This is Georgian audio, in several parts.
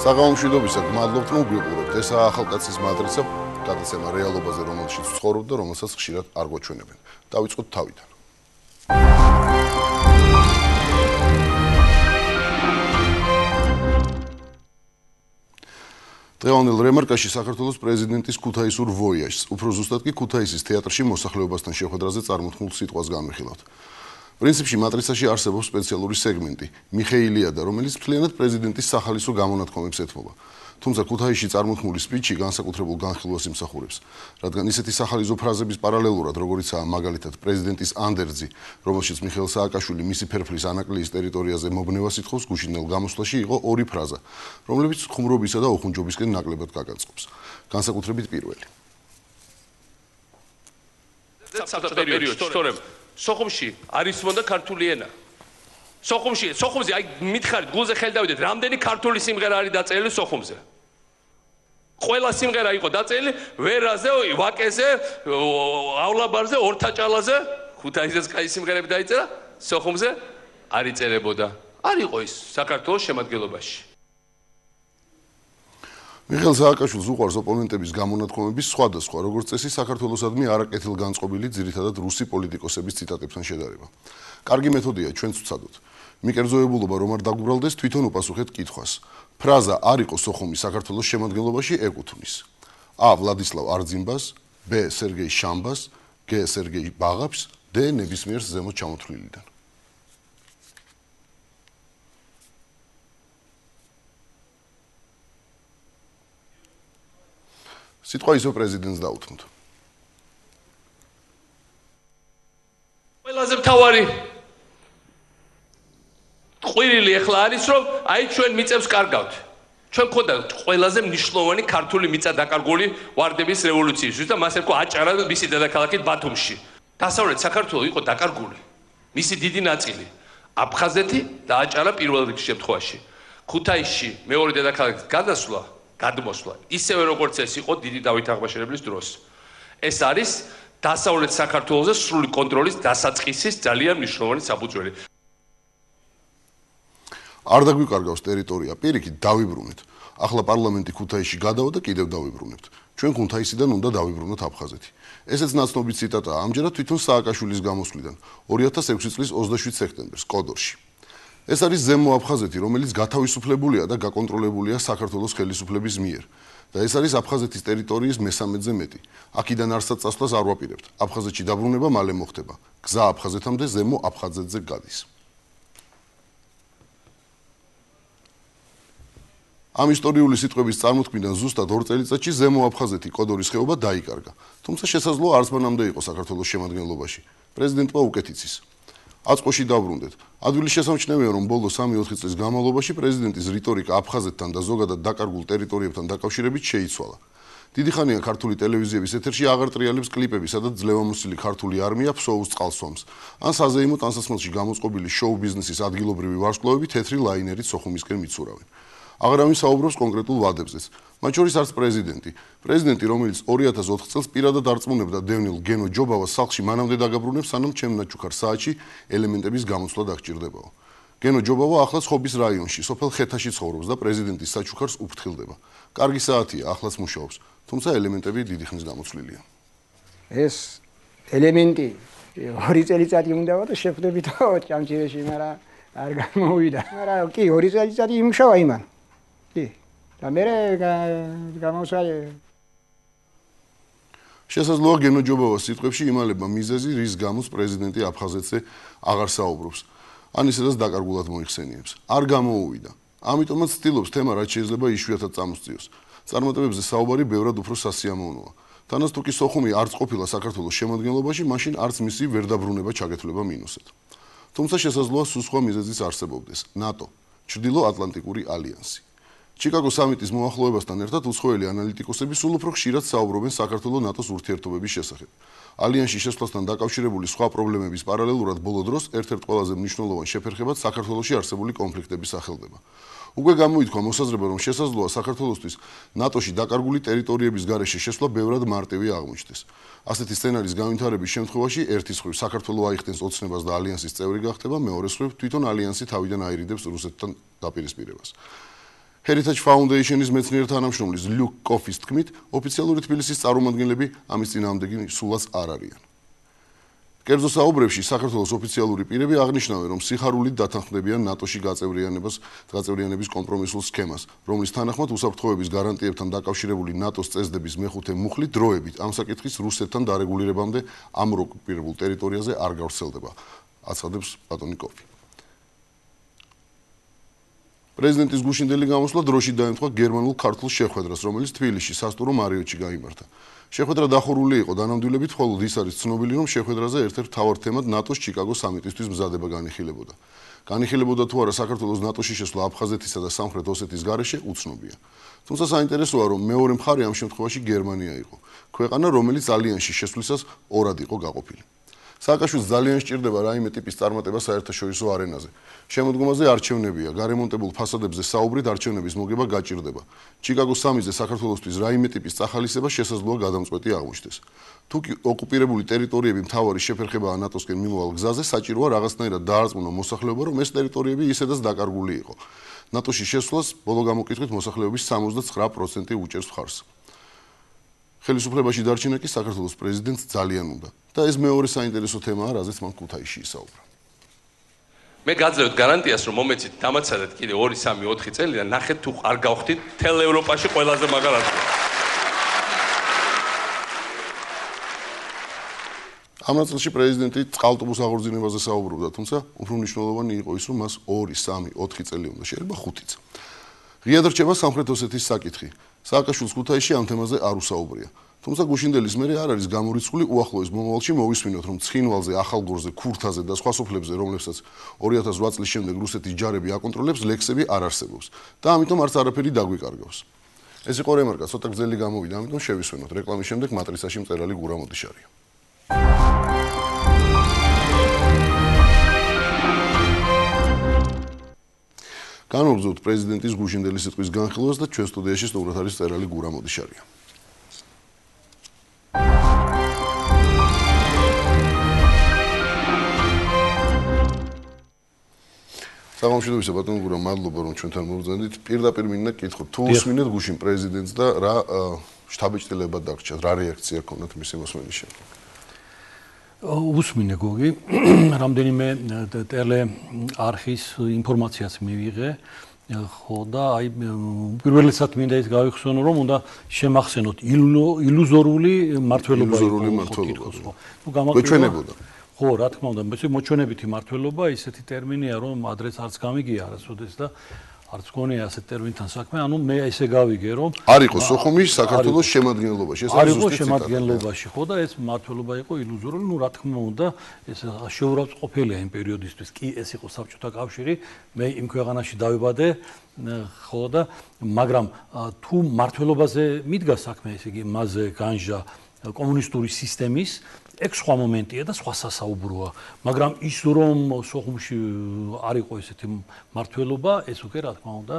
საღამომშვიდობისა, გმადლობთ, რომ გვიყურებთ. ესაა ახალკაცის მატრიცა, გადაცემა რეალობაზე, რომელშიც ვცხოვრობ და რომელსაც ხშირად არ გვაჩვენებენ. დავიწყოთ თავიდან. დღევანდელ რემარკაში საქართველოს პრეზიდენტის ქუთაისურ ვოიაჟს, უფრო ზუსტად კი ქუთაისის თეატრში მოსახლეობასთან შეხვედრაზე წარმოთქმულ სიტყვას განვიხილავთ. პრინციპში მატრიცაში არსებობს სპეციალური სეგმენტი, მიხეილიადა, რომელიც მთლიანად პრეზიდენტის სახალისო გამონათქვამებს ეთმობა. თუმცა ქუთაისში წარმოთქმული სპიჩი განსაკუთრებულ განხილვას იმსახურებს, რადგან ისეთი სახალისო ფრაზების პარალელურად, როგორიცაა მაგალითად პრეზიდენტის ანდერძი, რომელშიც მიხეილ სააკაშვილი მისი ფერფლის ანაკლიის ტერიტორიაზე მობნევას ითხოვს, გუშინდელ გამოსვლაში იყო ორი ფრაზა, რომლებიც ხუმრობისა და უხუნჯობისკენ ნაკლებად გაგაწყობს. განსაკუთრებით პირველი. სოხუმში არის მონდა ქართული ენა. სოხუმზე აი მითხარით გულზე ხელი დავიდეთ, რამდენი ქართული სიმღერა არის დაწერილი სოხუმზე? ყველა სიმღერა იყო დაწერილი ვერაზე, ვაკეზე,ავლაბარზე, ორთაჭალაზე, ქუთაისზეც კაი სიმღერები დაიწერა, სოხუმზე არ იწერებოდა. არ იყო ის საქართველოს შემადგენლობაში. მიხეილ სააკაშვილს უყვარს ოპონენტების გამონათქვამების სხვადასხვა, როგორც წესი, საქართველოსადმი არაკეთილგანწყობილი, ძირითადად რუსი პოლიტიკოსების ციტატებთან შედარება. კარგი მეთოდია ჩვენც ვცადოთ. მიკერძოებულობა რომ არ დაგვბრალდეს, თვითონ უპასუხეთ კითხვას. ფრაზა არ იყო სოხუმის საქართველოს შემადგენლობაში ეკუთვნის: ა. ვლადისლავ არძიმბას, ბ. სერგეი შამბას, გ. სერგეი ბაღაფს, დ. ნებისმიერს ზემოთ ჩამოთვლილიდან. სიტყვა ისო პრეზიდენტს დაუთმოთ. ყველაზე მთავარი ყვირილი ახლა არის, რომ აი ჩვენ მიწებს კარგავთ. ჩვენ ხოდა ყველაზე მნიშვნელოვანი ქართული მიწა დაკარგული ვარდების რევოლუციისთვის და მას ერქვა აჭარა მისი დედაქალაქით ბათუმში. დასავლეთ საქართველო იყო დაკარგული. მისი დიდი ნაწილი აფხაზეთი და აჭარა პირველ შემთხვევაში. ქუთაისში მეორე დედაქალაქის გადმოსვლა ისევე როგორც ეს იყო დიდი დავით აღმაშენებლის დროს. ეს არის დასავლეთ საქართველოზე სრული კონტროლის დასაწყისის ძალიან მნიშვნელოვანი საფუძველი. არ დაგვიკარგავს ტერიტორია, პირიქით დავიბრუნეთ. ახლა პარლამენტი ქუთაისში გადავა და კიდევ დავიბრუნებთ. ჩვენ ქუთაისიდან უნდა დავიბრუნოთ აფხაზეთი. ესეც ნაცნობი ციტატაა, ამჯერად თვითონ სააკაშვილის გამოსვლიდან 2006 წლის 27 სექტემბერს კოდორში. ეს არის ზემო აფხაზეთი, რომელიც გათავისუფლებულია და გაკონტროლებულია საქართველოს ხელისუფლების მიერ. და ეს არის აფხაზეთის ტერიტორიის მესამედზე მეტი. აქედან არსად წასვლას არ ვაპირებთ. აფხაზეთში დაბრუნება მალე მოხდება. გზა აფხაზეთამდე ზემო აფხაზეთზე გადის. ამ ისტორიული სიტყვების წარმოთქმიდან ზუსტად 2 წელიწადში ზემო აფხაზეთი კოდორის ხეობა დაიკარგა. თუმცა შესაძლოა არც მანამდე იყო საქართველოს შემადგენლობაში. პრეზიდენტმა უკეთ იცის. აწყოში დაბრუნდეთ. ადვილი შესამჩნევია, რომ ბოლო 3-4 წლის განმავლობაში პრეზიდენტის რიტორიკა აფხაზეთთან და ზოგადად დაკარგულ ტერიტორიებთან დაკავშირებით შეიცვალა. დიდი ხანია ქართული ტელევიზიების ეთერში აღარ ტრიალებს კლიპები, სადაც ძლევამოსილი ქართული არმია ფსოუს წყალსვამს. ან საზეიმო ტანსაცმელში გამოწყობილი შოუ ბიზნესის ადგილობრივი ვარსკვლავები თეთრი ლაინერით სოხუმისკენ მიცურავენ. აღარავინ საუბრობს კონკრეტულ ვადებზეც. მათ შორის არც პრეზიდენტი. პრეზიდენტი, რომელიც 2004 წელს პირადად არწმუნებდა დევნილ გენო ჯობავას სახლში მანამდე დაგაბრუნებს, სანამ ჩემ ნაჩუქარ საათში ელემენტების გამოსვლა დაგჭირდებაო. გენო ჯობავა ახლა ხობის რაიონში, სოფელ ხეთაში ცხოვრობს და პრეზიდენტის საჩუქარს უფრთხილდება. კარგი საათია, ახლაც მუშაობს, თუმცა ელემენტები დიდი ხნის გამოცვლილია. ეს ელემენტი 2 წელიწადი უნდაო და შეხვდებით ჭამჭირეში, მაგრამ არ გამოვიდა. მაგრამ კი 2 წელიწადი იმუშავა იმან. და მე გამოსვალე. შესაძლოა გენო ჯობავას სიტყვებში იმალება მიზეზი, რის გამოც პრეზიდენტი აფხაზეთზე აღარ საუბრობს. ან ისედაც დაკარგულად მოიხსენიებს. არ გამოუვიდა. ამიტომაც ცდილობს თემა რაც შეიძლება იშვიათად წამოსწიოს. წარმატებებზე საუბარი ბევრად უფრო სასიამოვნოა. თანაც თუ კი სოხუმი არც ყოფილა საქართველოს შემადგენლობაში, მაშინ არც მისი ვერ დაბრუნება ჩაგეთვლება მინუსად. თუმცა შესაძლოა სულ სხვა მიზეზიც არსებობდეს. ნატო, ჩრდილო ატლანტიკური ალიანსი. ჩიკაგოს სამიტის მოახლოებასთან ერთად უცხოელი ანალიტიკოსები სულ უფრო ხშირად საუბრობენ საქართველოს ნატოს ურთიერთობების შესახებ. ალიანსში შესვლასთან დაკავშირებული სხვა პრობლემების პარალელურად ბოლო დროს ერთ-ერთ ყველაზე მნიშვნელოვან შეფერხებად საქართველოში არსებული კონფლიქტები სახელდება. უკვე გამოითქვა მოსაზრება, რომ შესაძლოა საქართველოსთვის ნატოში დაკარგული ტერიტორიების გარეშე შესვლა ბევრად მარტივი აღმოჩნდეს. ასეთი სცენარის განვითარების შემთხვევაში ერთის მხრივ საქართველოს აიხდენს ოცნებას და ალიანსის წევრი გახდება, მეორეს მხრივ თვითონ ალიანსი თავიდან აირიდებს რუსეთთან დაპირისპირებას. Heritage Foundation-ის მეცნიერ თანამშრომლის Luke Coffey-ის თქმით, ოფიციალური თბილისის წარმომადგენლები ამის წინააღმდეგი სულაც არ არიან. კერძო საუბრებში საქართველოს ოფიციალური პირები აღნიშნავენ, რომ სიხარულით დათანხმდებიან ნატოში გაწევრიანების კომპრომისულ სქემას, რომლის თანახმად უსაფრთხოების გარანტიებთან დაკავშირებული ნატოს წესდების მეხუთე მუხლი დროებით ამ საკითხის რუსეთთან დარეგულირებამდე ამ ოკუპირებულ ტერიტორიაზე არ გავრცელდება, აცხადებს ბატონი კოფი. პრეზიდენტის გუშინდელი გამოსვლა დროში დაემთხვა გერმანულ-ქართულ შეხვედრას, რომელიც თბილისში სასტუმრო მარიოტში გაიმართა. შეხვედრა დახურული იყო დანამდვილებით, ხოლო ის არის ცნობილი, რომ შეხვედრაზე ერთ-ერთ მთავარ თემად ნატოს ჩიკაგოს სამიტისთვის მზადება განიხილებოდა. განიხილებოდა თუ არა საქართველოს ნატოში შესვლა აფხაზეთისა და სამხრეთ ოსეთის გარეშე უცნობია. თუმცა საინტერესოა, რომ მეორე მხარე ამ შემთხვევაში გერმანია იყო, ქვეყანა, რომელიც ალიანსში შესვლისას ორად იყო გაყოფილი. სააკაშვილს ძალიან სჭირდება რაიმე ტიპის წარმატება საერთაშორისო არენაზე. შემოდგომაზე არჩევნებია, გარემონტებულ ფასადებზე საუბრით არჩევნების მოგება გაჭირდება. ჩიკაგოს სამიზზე საქართველოსთვის რაიმე ტიპის წახალისება შესაძლოა გადამწყვეტი აღმოჩნდეს. თუ კი ოკუპირებული ტერიტორიები მთავარი შეფერხებაა ნატოსკენ მიმოვალ გზაზე, საჭიროა რაღაცნაირად დაარწმუნო მოსახლეობა, რომ ეს ტერიტორიები ისედაც დაკარგული იყო. ნატოში შესვლას ბოლო გამოკითხვით მოსახლეობის 79% უჭერს მხარს. ხელისუფლებაში დარჩენა კი საქართველოს პრეზიდენტს ძალიან უნდა და ეს მეორე საინტერესო თემაა, რაზეც მან ქუთაისში ისაუბრა. მე გაძლევთ გარანტიას, რომ მომეცით დამაცადეთ კიდე 2, 3, 4 წელი და ნახეთ თუ არ გავხდით მთელ ევროპაში ყველაზე მაგარ ადგილს. ამ ნაწილში პრეზიდენტი წყალტუბოს აღორძინებაზე საუბრობდა, თუმცა უფრო მნიშვნელოვანი იყო ის, რომ მას 2, 3, 4 წელი უნდა, შეიძლება 5-იც. ღიად რჩება სამხრეთ ოსეთის საკითხი. სააკაშვილს ქუთაისში ამ თემაზე არ უსაუბრია. თუმცა გუშინდელის მერე არ არის გამორიცხული უახლოეს მომავალში მოვისმინოთ, რომ ცხინვალზე, ახალგორზე, ქურთაზე და სხვა სოფლებზე, რომლებსაც 2008 წლის შემდეგ რუსეთის ჯარები აკონტროლებს, ლექსები არ არსებობს და ამიტომ არც არაფერი დაგვიკარგავს. ეს იყო რემარკა, ცოტა გრძელი გამოვიდა, ამიტომ შევისვენოთ. რეკლამის შემდეგ მატრიცაში მწერალი გურა მოდიშარია. განვაგრძობთ პრეზიდენტის გუშინდელი სიტყვის განხილვას და ჩვენ სტუდიაში სტუმრად არის მწერალი გურა მოდიშარია. საღამოშიდობისა ბატონო გურა, მადლობა რომ ჩვენთან მოვზანდით. პირდაპირ მინდა გითხოთ, თუ უსმინეთ გუშინ პრეზიდენტს და რა შთაბეჭდილება დაგჭირთ, რა რეაქცია ჰქონდათ მისი მოსმენის შემდეგ? უსმინე გოგი, რამდენიმე ტელეარხის ინფორმაციას მივიღე, ხო და აი პირველიცად მინდა ის გავიხსენო, რომ უნდა შემახსენოთ ილუზორული მართლობა. გვეჩვენებოდა. ხო, რა თქმა უნდა, მოჩვენებითი მართლობა ისეთი ტერმინია, რომ ადრეს არც გამიგია არასოდეს და არც გონია ასეთ ტერმინთან საქმე, ანუ მე ესე გავიგე, რომ არ იყო სოხუმი საქართველოს შემადგენლობაში, ეს არის ზუსტი შემადგენლობაში, ხო და ეს მართლობა იყო ილუზორული, ну რა თქმა უნდა, ეს შეურაცხყოფილია იმ პერიოდისთვის, კი ეს იყო საბჭოთა კავშირი, მე იმ ქვეყანაში დავიბადე, ხო და მაგრამ თუ მართლობაზე მიდგა საქმე, ესე იგი მასზე განჟა კომუნისტური სისტემის ეგ სხვა მომენტია და სხვა სასაუბროა, მაგრამ ის რომ სოხუმში არ იყო ესეთი მართლობა, ეს უკვე რა თქმა უნდა,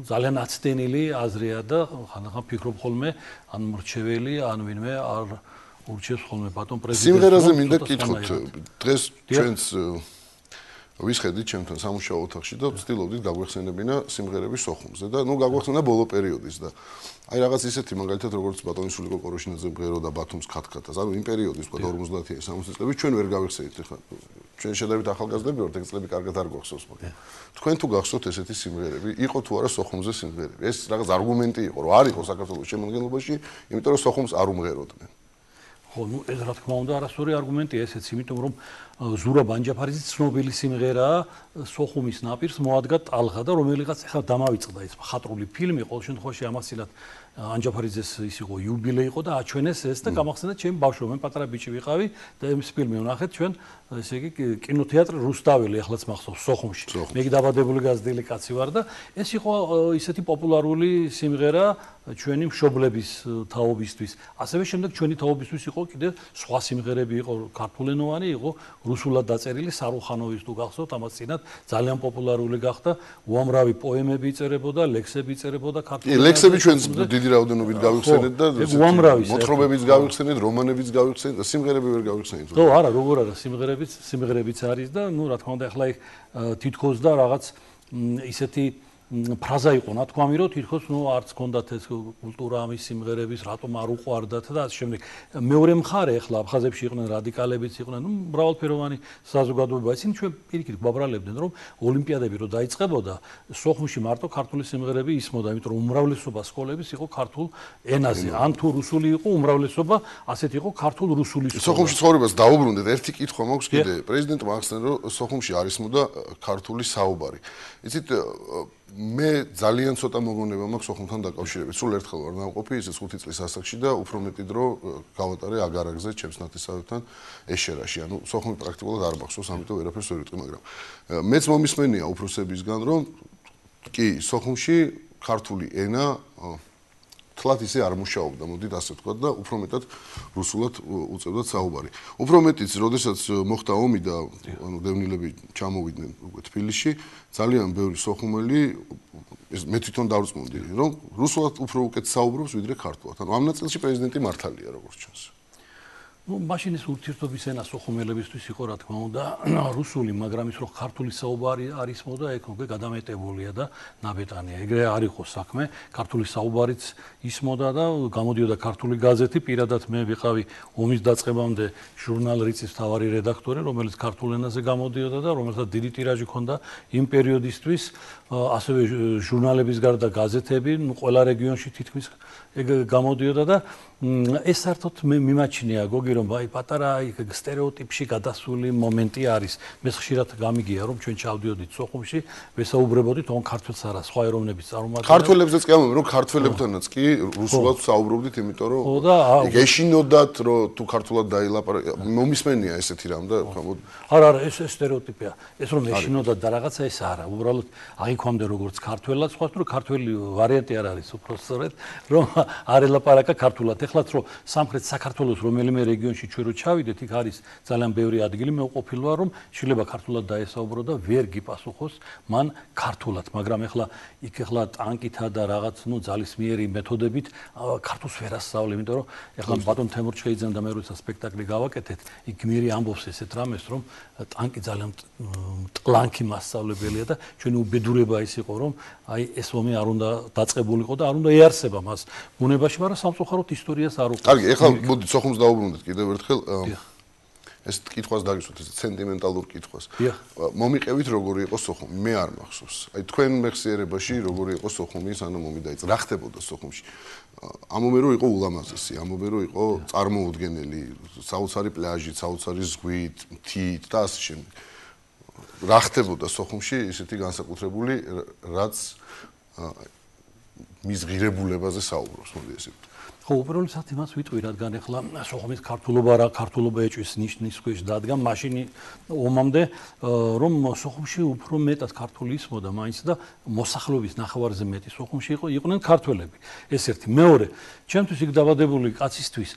ძალიან აცდენილი აზრია და ხანდახან ფიქრობ ხოლმე, ან მრჩეველი, ან ვინმე არ ურჩევს ხოლმე ბატონ პრეზიდენტს. სიმღერაზე მინდა გითხოთ, დღეს ჩვენს ვისხედით ჩემთან სამუშაო ოთახში და ვცდილობდით გაგვეხსენებინა სიმღერები სოხუმზე და ნუ გაგვეხსენა ბოლო პერიოდის და აი რაღაც ისეთი მაგალითად როგორც ბატონი სულიკო კოროშინაძე მღეროდა ბათუმს ქათქათას, ანუ იმ პერიოდის თქვა 50-იანი 60 წლების ჩვენ ვერ გავიხსენით ახლა ჩვენ შედავით ახალგაზრდები ვართ, ეგ წლები კარგად არ გვახსოვს, მაგრამ თქვენ თუ გახსოვთ ესეთი სიმღერები, იყო თუ არა სოხუმზე სიმღერები? ეს რაღაც არგუმენტი იყო, რომ არ იყო საქართველოს შემადგენლობაში, იმიტომ რომ სოხუმს არ უმღეროდნენ. ხო, ну ეს რა თქმა უნდა არასწორი არგუმენტია ესეც, იმიტომ რომ ზურაბ ანჯაფარიძის ცნობილი სიმღერაა სოხუმის ნაპირს მოადგა ტალღა და რომელიღაც ახლა დამავიწყდა ეს მხატვრული ფილმი, ყოველ შემთხვევაში ამასილად ანჯაფარიძეს ის იყო იუბილე იყო და აჩვენეს ეს და გამახსენდა ჩემი ბავშვობა, მე პატარა ბიჭი ვიყავი და ეს ფილმი ვნახეთ ჩვენ, ესე იგი კინოთეატრ რუსტაველი ახლაც მახსოვს სოხუმში. მე კი დაბადებული გაზრდილი კაცი ვარ და ეს იყო ისეთი პოპულარული სიმღერა ჩვენი მშობლების თაობისთვის. ასევე შემდეგ ჩვენი თაობისთვის იყო კიდე სხვა სიმღერები, იყო ქართულენოვანი, იყო რუსულად დაწერილი სარუხანოვის თუ გახსოვთ, ამას წინათ ძალიან პოპულარული გახდა, უამრავი პოემები იწერებოდა, ლექსები იწერებოდა ქართულად. ლექსები ჩვენ დიდი რაოდენობით გავიხსენეთ და მოთხრობებიც გავიხსენეთ, რომანებიც გავიხსენეთ და სიმღერები ვერ გავიხსენეთ. ხო, არა, როგორ არა, სიმღერებიც არის და ნუ რა თქმა უნდა, ახლა თითქოს და რაღაც ისეთი ფრაზა იყო ნათქვამი, რომ თითქოს არც ჰქონდათ ეს კულტურა ამის სიმღერების, რატომ არ უყვარდათ და ასე შემდეგ. მეორე მხარე ახლა აფხაზებში იყვნენ რადიკალებიც იყვნენ, მრავალფეროვანი საზოგადოება. ისინი ჩვენ პირიქით გვაბრალებდნენ, რომ ოლიმპიადები რო დაიწყებოდა, სოხუმში მარტო ქართული სიმღერები ისმოდა, იმიტომ რომ უმრავლესობა სკოლების იყო ქართულ ენაზე. ან თუ რუსული იყო, უმრავლესობა ასეთ იყო ქართულ რუსული სკოლა. სოხუმში ცხოვრებას დაუბრუნდეთ. ერთი კითხვა მაქვს კიდე. პრეზიდენტმა ახსენა, რომ სოხუმში არ ისმოდა ქართული საუბარი. იცით, მე ძალიან ცოტა მოგონება მაქვს სოხუმთან დაკავშირებით. სულ ერთხელ ვარ ნამყოფი, ისე 5 წლის ასაკში და უფრო მეტი დრო გავატარე აგარაგზე, ჩემს ნათესავებთან ეშერაში. ანუ სოხუმი პრაქტიკულად არ მახსოვს, ამიტომ ვერაფერს ვერ ვიტყვი, მაგრამ მეც მომისმენია უფროსებისგან, რომ კი, სოხუმში ქართული ენა თლათ ისე არ მუშაობდა, მოდით ასე ვთქვა და უფრო მეტად რუსულად უწევდათ საუბარი. უფრო მეტიც, როდესაც მოხდა ომი და ანუ დევნილები ჩამოვიდნენ უკვე თბილისში, ძალიან ბევრი სოხუმელი მე თვითონ დავწმუნდი, რომ რუსულად უფრო უკეთ საუბრობს ვიდრე ქართულად. ანუ ამ ნაწილში პრეზიდენტი მართალია, როგორც ჩანს. მაშინ ეს ურთიერთობის ენა სოხუმელებისთვის იყო, რა თქმა უნდა, რუსული, მაგრამ ის რომ ქართული საუბარი არ ისმოდა, ეგ უკვე გადამეტებულია და ნაბეტანია. ეგრე არ იყო საქმე, ქართული საუბარიც ისმოდა და გამოდიოდა ქართული გაზეთი, პირადად მე ვიყავი ომის დაწყებამდე ჟურნალ რიცის მთავარი რედაქტორი, რომელიც ქართულ ენაზე გამოდიოდა და რომელსაც დიდი ტირაჟი ჰქონდა იმ პერიოდისთვის, ასევე ჟურნალების გარდა გაზეთები, ყველა რეგიონში თითქმის ეგ გამოდიოდა და ეს საერთოდ მე მიმაჩნია გოგი რომ აი პატარა სტერეოტიპში გადასული მომენტი არის. მე ხშირად გამიგია რომ ჩვენ ჩავდიოდით სოხუმში, ვესაუბრებოდით on ქართველს არა, სხვა ეროვნების წარმომადგენლებს. ქართველებზეც კი ამბობენ, რომ ქართველებთანაც კი რუსულად საუბრობდით, იმიტომ რომ ეშინოდათ, რომ თუ ქართულად დაილაპარაკე, მომისმენია ესეთი რამ და არა, ეს სტერეოტიპია. ეს რომ ეშინოდათ და რაღაცა ეს არა. უბრალოდ აღიქვამდა როგორც ქართველად, სხვა თუ ქართველი ვარიანტი არ არის უფრო სწორედ, რომ არ ელაპარაკა ქართულად. ეხლაც რომ სამხრეთ საქართველოს რომელიმე რეგიონში ჩვენ რო ჩავიდეთ, იქ არის ძალიან ბევრი ადგილი, მე ვყოფილი ვარ რომ შეიძლება ქართულად დაესაუბრო და ვერ გიპასუხოს მან ქართულად, მაგრამ ეხლა იქ ეხლა ტანკითა და რაღაც ძალისმიერი მეთოდებით ქართულს ვერ ასწავლე, იმიტომ რომ ეხლა ბატონ თემურ ჩხეიძემ და მე როცა სპექტაკლი გავაკეთეთ, იქ გმირი ამბობს ესეთ რამეს, რომ ტანკი ძალიან ტლანქი მასწავლებელია და ჩვენი უბედურება ის იყო, რომ აი ეს ომი არ უნდა დაწყებულიყო და არ უნდა ეარსება მას ბუნებაში, მაგრამ სამწუხაროდ ისტორიას არ უყურებს. კარგი, ეხლა მოდი სოხუმს დაუბრუნდეთ კიდევ ერთხელ. ეს კითხვას დაგისვათ, ეს სენტიმენტალურ კითხვას. მომიყევით როგორი იყო სოხუმი? მე არ მახსოვს. აი თქვენ მეხსიერებაში როგორი იყო სოხუმი, სანამ ომი დაიწყო? რა ხდებოდა სოხუმში? ამობენ რომ იყო ულამაზესი, ამობენ რომ იყო წარმოუდგენელი, საოცარი პლაჟით, საოცარი ზღვით, მთით და ასე შემდეგ. რა ხდებოდა სოხუმში ისეთი განსაკუთრებული, რაც მის ღირებულებაზე საუბრობს, მოდი ესე ვთქვი. ხო, უპირველესად იმას ვიტყვი, რადგან ეხლა სოხუმის ქართულობა რა ქართულობა ეჭვის ნიშნის ქვეშ დადგა მაშინ ომამდე, რომ სოხუმში უფრო მეტად ქართული ისმოდა მაინც და მოსახლეობის ნახევარზე მეტი სოხუმში იყვნენ ქართველები. ეს ერთი. მეორე, ჩემთვის იქ დაბადებული კაცისთვის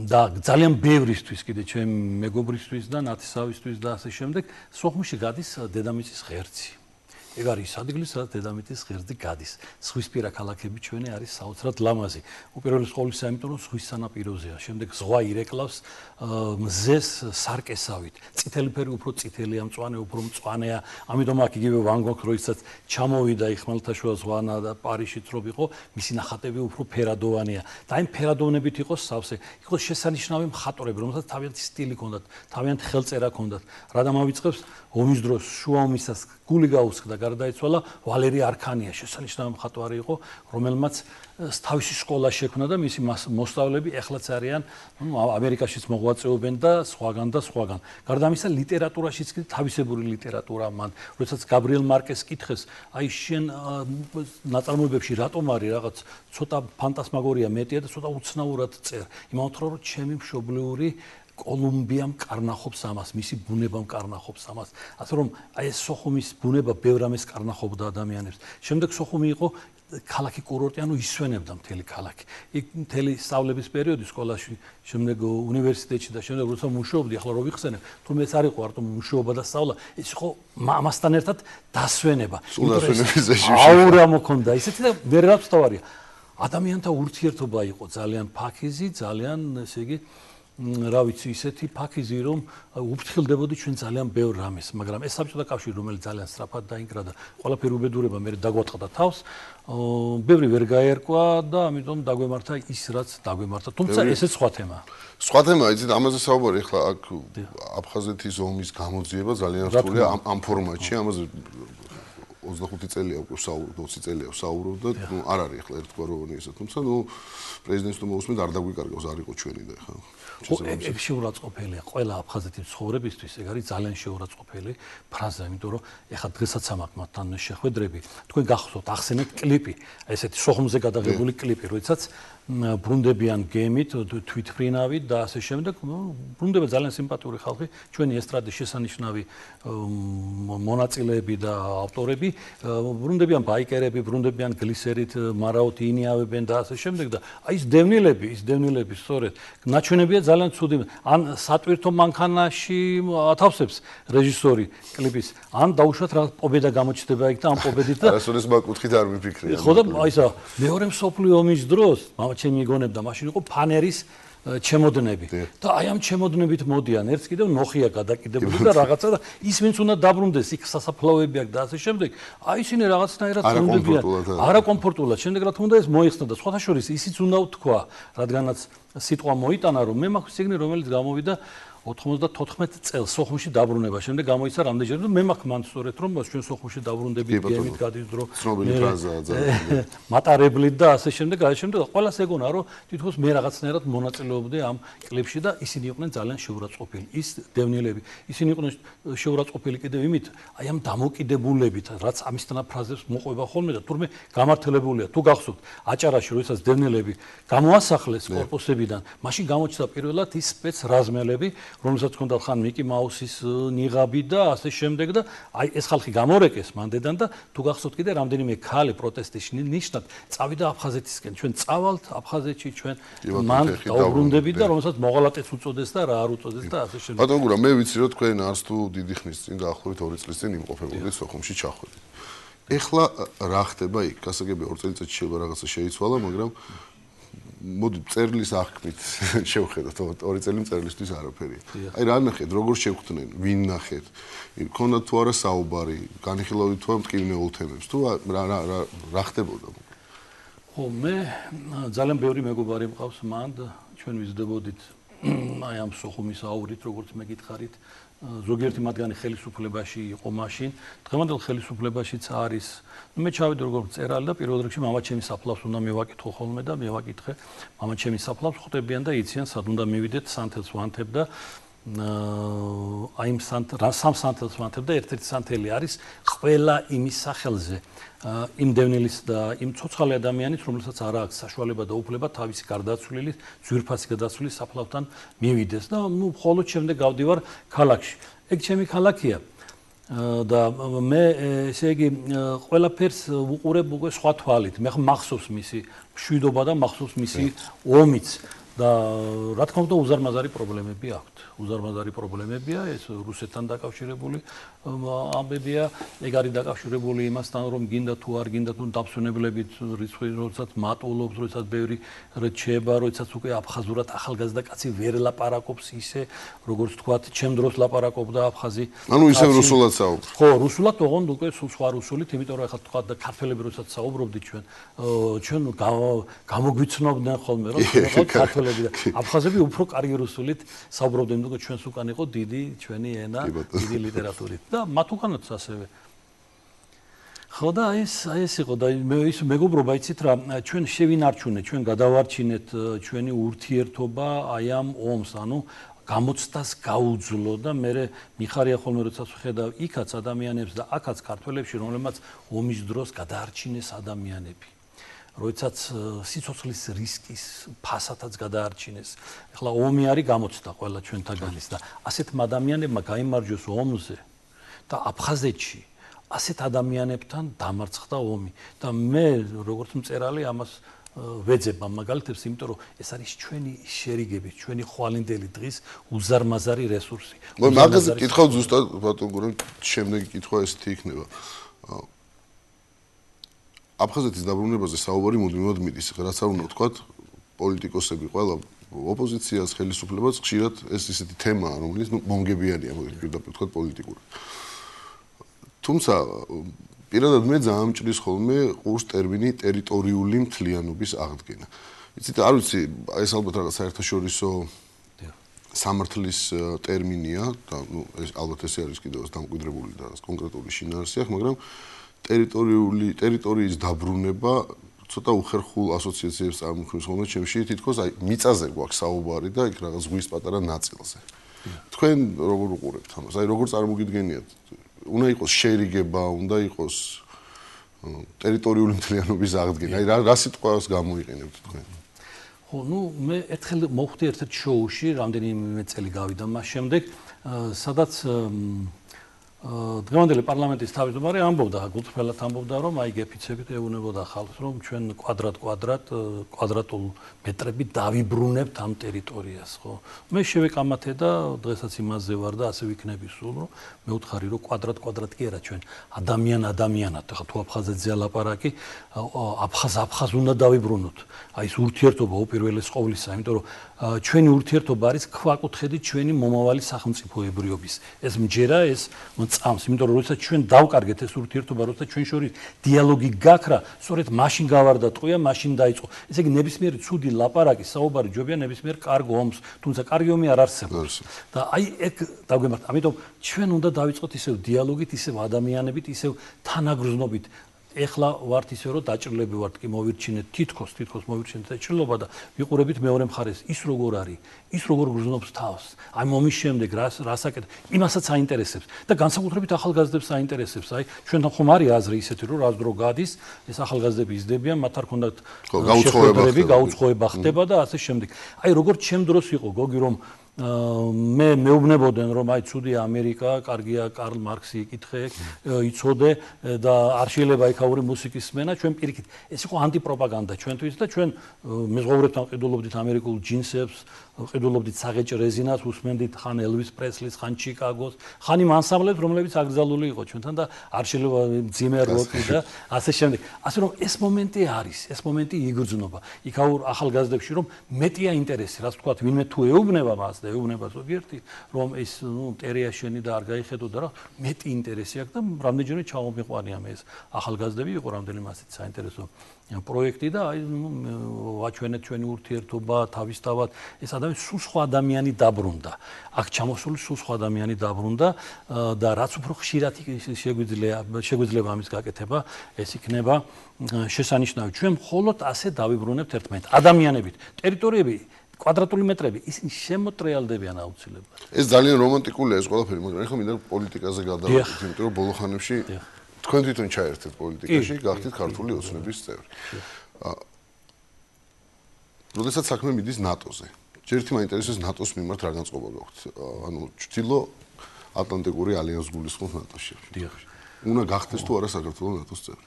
და ძალიან ბევრისთვის კიდე ჩემ მეგობრისთვის და ნათესავისთვის და ასე შემდეგ, სოხუმში გადის დედამიწის ღერძი. ეგ არის ადგილი, სადაც დედამიწის ღერძი გადის. ზღვისპირა ქალაქები ჩვენი არის საოცრად ლამაზი. უპირველეს ყოვლისა, იმიტომ რომ ზღვის სანაპიროზეა. შემდეგ ზღვა ირეკლავს მზეს სარკესავით. წითელი ფერი უფრო წითელია, მწვანე უფრო მწვანეა. ამიტომ აქ იგივე ვან გოგს როდესაც ჩამოვიდა ხმელთაშუა ზღვანა და პარიზშიც რო იყო, მისი ნახატები უფრო ფერადოვანია. და აი ფერადოვნებით იყო სავსე. იყო შესანიშნავი მხატვრები, რომელსაც თავიანთი სტილი ჰქონდათ, თავიანთი ხელწერა ჰქონდათ. რა დამავიწყებს ომის დროს შუა ომისას გული გაუსხდა, გარდაიცვალა ვალერი არქანია, შესანიშნავი მხატვარი იყო, რომელმაც თავისი სკოლა შექმნა და მისი მოსწავლეები ეხლაც არიან, ამერიკაშიც მოღვაწეობენ და სხვაგან და სხვაგან. გარდა ამისა, ლიტერატურაშიც კი თავისებური ლიტერატურა მან. როდესაც გაბრიელ მარკეს კითხეს, აი შენ ნაწარმოებებში რატომ არის რაღაც ცოტა ფანტასმაგორია მეტია და ცოტა უცნაურად წერ. იმავთ რომ ჩემი მშობლიური კოლუმბიამ კარნახობს ამას, მისი ბუნება კარნახობს ამას. ასე რომ აი ეს სოხუმის ბუნება ბევრ ამას კარნახობდა ადამიანებს. შემდეგ სოხუმი იყო ქალაქი კურორტი, ანუ ისვენებდა მთელი ქალაქი. იქ მთელი სწავლების პერიოდი სკოლაში, შემდეგ უნივერსიტეტში და შემდეგ როცა მუშაობდი, ახლა რო ვიხსენებ, თუმცა ეს არ იყო არტო მუშაობა და სწავლა, ეს იყო ამასთან ერთად დასვენება. აუ რა მოქონდა ისეთი და ვერ რაღაცავარია. ადამიანთა ურთიერთობა იყო ძალიან ფაქიზი, ძალიან, ესე იგი რა ვიცი, ისეთი ფაქიზი, რომ უფრთხილდებოდი ჩვენ ძალიან ბევრ რამეს, მაგრამ ეს საბჭოთა კავშირი, რომელიც ძალიან სწრაფად დაინგრა და ყველაფერი უბედურება მე დაგვატყდა თავს, ბევრი ვერ გაერკვა და ამიტომ დაგვემართა ის, რაც დაგვემართა. თუმცა ესეც სხვა თემაა. სხვა თემაა, იცით, ამაზე საუბარი ახლა აქ აფხაზეთის ომის გამოძიება ძალიან რთულია ამ ფორმატში, ამაზე 25 წელია უკვე საუბრობ, 20 წელია საუბრობ და ნუ არ არის ახლა ერთგვაროვანი ესა, თუმცა ნუ პრეზიდენტს თუ მოусმენთ არ დაგვიკარგავს, არ იყო ჩვენი და ხა. ეს შეურაცხყოფელია ყველა აფხაზეთის ცხოვრებისთვის, ეგ არის ძალიან შეურაცხყოფელი ფრაზა, იმიტომ რომ ეხლა დღესაც ამაქვს მათთან შეხვედრები. თქვენ გახსოვთ, ახსენეთ კლიპი, ესეთი სოხუმზე გადაღებული კლიპი, როდესაც ბრუნდებიან გემით, თვითფრინავით და ასე შემდეგ, ბრუნდება ძალიან სიმპათიური ხალხი, ჩვენი ესტრადის შესანიშნავი მონაწილეები და ავტორები, ბრუნდებიან ბაიკერები, ბრუნდებიან გლისერით, მარაოთი ინიავებენ და ასე შემდეგ და აი ეს დევნილები სწორედ ნაჩვენებია ძალიან ცუდი. ან სატვირთო მანქანაში ათავსებს რეჟისორი კლიპის, ან დაუშვათ რა პობედა გამოჩნდება იქ და ამ პობედით და არასოდეს მაგუთხით არ მიფიქრია. ხო და აი ესა მეორე მსოფლიო ომის დროს ჩემი მიგონებდა მაშინ იყო ფანერის ჩემოდნები და აი ამ ჩემოდნებით მოდიან ერთს კიდევ ნოხია გადაკიდებული და რაღაცა და ის ვინც უნდა დაბრუნდეს იქ სასაფლაოები აქვს და ასე შემდეგ აი ისინი რაღაცნაირად ბრუნდებიან არაკომფორტულად შემდეგ რა თქმა უნდა ეს მოიხსნა და სხვათა შორის ისიც უნდა ვთქვა რადგანაც სიტყვა მოიტანა რომ მე მაქვს სიგნი რომელიც გამოვიდა 94 წელს სოხუმში დაბრუნება შემდეგ გამოიცა რამდენჯერ და მე მაქვს მან სწორედ რომ ჩვენ სოხუმში დაბრუნდებით გემით გადის დრო ცნობილი ფრაზაა ძალიან მატარებლით და ასე შემდეგ ყველას ეგონა რომ თითქოს მე რაღაცნაირად მონაწილეობდი ამ კლიპში და ისინი იყვნენ ძალიან შეურაცხყოფილი ის დევნილები ისინი იყვნენ შეურაცხყოფილი კიდევ იმით აი ამ დამოკიდებულებით რაც ამისთანა ფრაზებს მოყვება ხოლმე და თურმე გამართლებულია თუ გახსოვთ აჭარაში როდესაც დევნილები გამოასახლეს კორპუსებიდან მაშინ გამოჩნდა პირველად ის სპეცრაზმელები რომელსაც ჰქონდა ხან მიკი მაუსის ნიღაბი და ასე შემდეგ და აი ეს ხალხი გამორეკეს მანდედან და თუ გახსოვთ კიდე რამდენიმე ქალი პროტესტის ნიშნად წავიდა აფხაზეთისკენ ჩვენ წავალთ აფხაზეთში ჩვენ მან დაუბრუნდებით და რომელსაც მოღალატეც უწოდეს და რა არ უწოდეს და ასე შემდეგ ბატონ გურა მე ვიცი რომ თქვენ არც თუ დიდი ხნის წინ დაახლოებით 2 წლის წინ იმყოფებოდით სოხუმში ჩახვედით ეხლა რა ხდება იქ გასაგებია 2 წელიწადში შეიძლება რაღაცა შეიცვალა მაგრამ მოდი წერლის აღქმით შევხედოთ 2 წელი წერლისთვის არაფერია. აი რა ნახეთ, როგორ შევხვდნენ, ვინ ნახეთ. იქონდა თუ არა საუბარი, განიხილავთ თუ მტკივნეულ თემებს, თუ რა ხდებოდა. ხო, მე ძალიან ბევრი მეგობარი მყავს მანდ, ჩვენ ვიზრდებოდით აი ამ სოხუმის აურით, როგორც მეკითხარით. ზოგიერთი მათგანი ხელისუფლებაში იყო მაშინ. დღევანდელ ხელისუფლებაშიც არის. მე ჩავედი როგორც მწერალი და პირველ რიგში მამაჩემის საფლავს უნდა მევაკითხო ხოლმე და მევაკითხე მამაჩემის საფლავს ხვდებიან და იციან სად უნდა მივიდეთ სანთელს ვანთებ და აი იმ სამ სანთელს ვანთებ და ერთ-ერთი სანთელი არის ყველა იმის სახელზე იმ დევნილის და იმ ცოცხალი ადამიანის რომელსაც არ აქვს საშუალება და უფლება თავისი გარდაცვლილი ძვირფასი გადაცვლის საფლავთან მივიდეს და ნუ მხოლოდ შემდეგ გავდივარ ქალაქში ეგ ჩემი ქალაქია და მე ესე იგი ყველაფერს უყურებ უკვე სხვა თვალით მე მახსოვს მისი მშვიდობა და მახსოვს მისი ომიც და რა თქმა უნდა უზარმაზარი პრობლემები აქვს უზარმაზარი პრობლემებია ეს რუსეთთან დაკავშირებული ამბებია ეგ არის დაკავშირებული იმასთან რომ გინდა თუ არ გინდა თუ დაფსვენებლებით რიცხვი როდესაც მატულობს როდესაც ბევრი რჩება როდესაც უკვე აფხაზურად ახალგაზრდა კაცი ვერ ლაპარაკობს ისე როგორც თქვათ ჩემ დროს ლაპარაკობდა აფხაზი ანუ ისე რუსულად საუბრობს ხო რუსულად ოღონდ უკვე სხვა რუსულით იმიტომ რომ ახლა თქვათ და ქართველები როდესაც საუბრობდით ჩვენ გამოგვიცნობდნენ ხოლმე რომ ქართველები და აფხაზები უფრო კარგი რუსულით საუბრობდნენ თუმცა ჩვენს უკან იყო დიდი ჩვენი ენა დიდი ლიტერატურით და მათ უკანაც ასევე ხო და ეს იყო და ის მეგობრობა იცით რა ჩვენ შევინარჩუნეთ ჩვენ გადავარჩინეთ ჩვენი ურთიერთობა აი ამ ომს ანუ გამოცდას გაუძლო და მე მიხარია ხოლმე როდესაც ვხედავ იქაც ადამიანებს და აქაც ქართველებში რომლებმაც ომის დროს გადაარჩინეს ადამიანები როდესაც სიცოცხლის რისკის ფასადაც გადაარჩინეს. ახლა ომი არის გამოცდა ყველა ჩვენთაგანის და ასეთ ადამიანებმა გაიმარჯვეს ომზე და აფხაზეთში ასეთ ადამიანებთან დამარცხდა ომი და მე როგორც მწერალი ამას ვეძებ ამ მაგალითებს, იმიტომ რომ ეს არის ჩვენი შერიგები, ჩვენი ხვალინდელი დღის უზარმაზარი რესურსი. მაგაზე კითხავ ზუსტად ბატონ გურამ შემდეგი კითხვა ესეთი იქნება. აფხაზეთის დაბრუნებაზე საუბარი მუდმივად მიდის, რაც არ უნდა ვთქვათ, პოლიტიკოსები ყველა ოპოზიციას, ხელისუფლებას ხშირად ეს ისეთი თემაა, რომელიც მომგებიანია, პირდაპირ ვთქვათ, პოლიტიკურად. თუმცა პირადად მე ძალიან მჭრის ხოლმე ყურს ტერმინი ტერიტორიული მთლიანობის აღდგენა. იცით, არ ვიცი, ეს ალბათ რაღაც საერთაშორისო სამართლის ტერმინია და ეს ალბათ ესე არის კიდევ დამკვიდრებული და კონკრეტული შინაარსი აქვს, მაგრამ ტერიტორიის დაბრუნება ცოტა უხერხულ ასოციაციებს წარმოქმნის ხოლმე ჩემში, თითქოს აი მიწაზე გვაქვს საუბარი და იქ რაღაც ზღვის პატარა ნაწილზე. თქვენ როგორ უყურებთ ამას? აი როგორ წარმოგიდგენიათ? უნდა იყოს შერიგება, უნდა იყოს ტერიტორიული მთლიანობის აღდგენა. აი რა სიტყვას გამოიყენებთ თქვენ? ხო, მე ერთხელ მოვხვდი ერთ-ერთ შოუში, რამდენიმე წელი გავიდა მას შემდეგ, სადაც დღევანდელი პარლამენტის თავმჯდომარე ამბობდა, გულწრფელად ამბობდა, რომ აი გეფიცებით ეუბნებოდა ხალხს, რომ ჩვენ კვადრატულ მეტრებით დავიბრუნებთ ამ ტერიტორიას, ხო? მე შევეკამათე და დღესაც იმაზე ვარ და ასე ვიქნები სულ, რომ მე ვთხარი, რომ კვადრატ კი არა, ჩვენ ადამიანად, ხა თუ აფხაზეთზე ლაპარაკი, აფხაზ უნდა დავიბრუნოთ. აი ეს ურთიერთობა უპირველეს ყოვლისა, იმიტომ რომ ჩვენი ურთიერთობა არის ქვაკუთხედი ჩვენი მომავალი სახელმწიფოებრიობის. ეს მჯერა, ეს წამს, იმიტომ რომ როდესაც ჩვენ დავკარგეთ ეს ურთიერთობა, როდესაც ჩვენ შორის დიალოგი გაქრა, სწორედ მაშინ გავარდა ტყვია, მაშინ დაიწყო. ესე იგი ნებისმიერი ცუდი ლაპარაკი, საუბარი ჯობია ნებისმიერ კარგ ომს, თუმცა კარგი ომი არ არსებობს. და აი ეგ დავგემართ. ამიტომ ჩვენ უნდა დავიწყოთ ისევ დიალოგით, ისევ ადამიანებით, ისევ თანაგრძნობით. ეხლა ვართ ისე რომ დაჭრილები ვართ კი მოვირჩინეთ თითქოს მოვირჩინეთ დაჭრილობა და ვიყურებით მეორე მხარეს ის როგორ არის ის როგორ გრძნობს თავს აი მომის შემდეგ რასაკეთ იმასაც აინტერესებს და განსაკუთრებით ახალგაზრდებს აინტერესებს აი ჩვენთან ხომ არის აზრი ისეთი რომ რაც დრო გადის ეს ახალგაზრდები იზრდებიან მათ არ ქონდათ გაუწყოება ხდება და ასე შემდეგ აი როგორც ჩემ დროს იყო გოგი რომ მე მეუბნებოდნენ რომ აი ცუდი ამერიკა, კარგია კარლ მარქსი იკითხე, იცოდე და არ შეიძლება იქაური მუსიკის სმენა, ჩვენ პირიქით. ეს იყო ანტიპროპაგანდა ჩვენთვის და ჩვენ მეზღვაურებთან ყიდულობდით ამერიკულ ჯინსებს, ყიდულობდით საღეჭ რეზინას, უსმენდით ხან ელვის პრესლის, ხან ჩიკაგოს, ხან იმ ანსამბლებს, რომლებიც აკრძალული იყო ჩვენთან და არ შეიძლება ძიმერ როკი და ასე შემდეგ. ასე რომ ეს მომენტი არის, ეს მომენტი იგრძნობა. იქაურ ახალგაზრდებში რომ მეტია ინტერესი, რაც თქვა, ვინმე თუ ეუბნება მას და ეუბნება ზოგიერთი, რომ ეს მტერია შენი და არ გაიხედო და რა, მეტი ინტერესი აქვს და რამდენჯერმე ჩამომიყვანია მე ეს ახალგაზრდები იყო რამდენიმე ასეთ საინტერესო პროექტი და აი ვაჩვენეთ ჩვენი ურთიერთობა თავისთავად ეს ადამიანი სულ სხვა ადამიანი დაბრუნდა აქ ჩამოსული სულ სხვა ადამიანი დაბრუნდა და რაც უფრო ხშირად შეგვიძლია ამის გაკეთება ეს იქნება შესანიშნავი ჩვენ მხოლოდ ასე დავიბრუნებთ ერთმანეთს ადამიანებით ტერიტორიები კვადრატული მეტრები ისინი შემოტრიალდებიან აუცილებლად ეს ძალიან რომანტიკულია ეს ყველაფერი მაგრამ ეხლა მინდა პოლიტიკაზე გადავიდეთ იმიტომ რომ ბოლო ხანებში თქვენ თვითონ ჩაერთეთ პოლიტიკაში, გახდით ქართული ოცნების წევრი. როდესაც საქმე მიდის ნატოზე. ჯერ ერთი მაინტერესებს ნატოს მიმართ რა განწყობა გაქვთ. ანუ ჩრდილო ატლანტიკური ალიანსს გულისხმობთ ნატოში. უნდა გახდეს თუ არა საქართველოს ნატოს წევრი.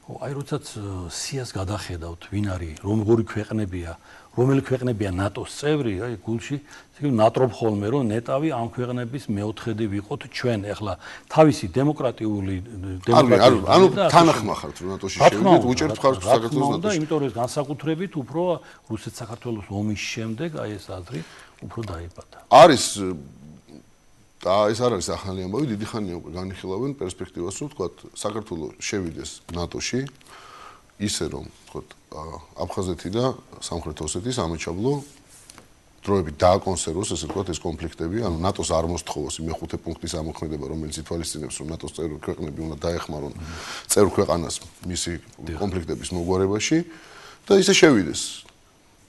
ხო, აი როდესაც სიას გადახედავთ, ვინ არის, რომელი ქვეყნებია, რომელი ქვეყნებია ნატოს წევრი, აი გულში ნატრობ ხოლმე რომ ნეტავი ამ ქვეყნების მეოთხედი ვიყოთ ჩვენ ახლა თავისი დემოკრატიული ანუ თანახმა ხართ რომ ნატოში შევიდეთ უჭერთ ხართ საქართველოს ნატოში და იმიტომ რომ ეს განსაკუთრებით უფრო რუსეთ-საქართველოს ომის შემდეგ აი ეს აზრი უფრო დაიბადა არის და ეს არ არის ახალი ამბავი დიდი ხანია უკვე განიხილავენ პერსპექტივას რომ თქვა საქართველოს შევიდეს ნატოში ისე რომ თქვა აფხაზეთი და სამხრეთ ოსეთის ამაჩაბლო დროებით დააკონსერვოს ესე ვთქვათ ეს კონფლიქტები, ანუ ნატოს არ მოსთხოვოს მეხუთე პუნქტის ამოქმედება, რომელიც ითვალისწინებს, რომ ნატოს წევრი ქვეყნები უნდა დაეხმარონ წევრ ქვეყანას მისი კონფლიქტების მოგვარებაში და ისე შევიდეს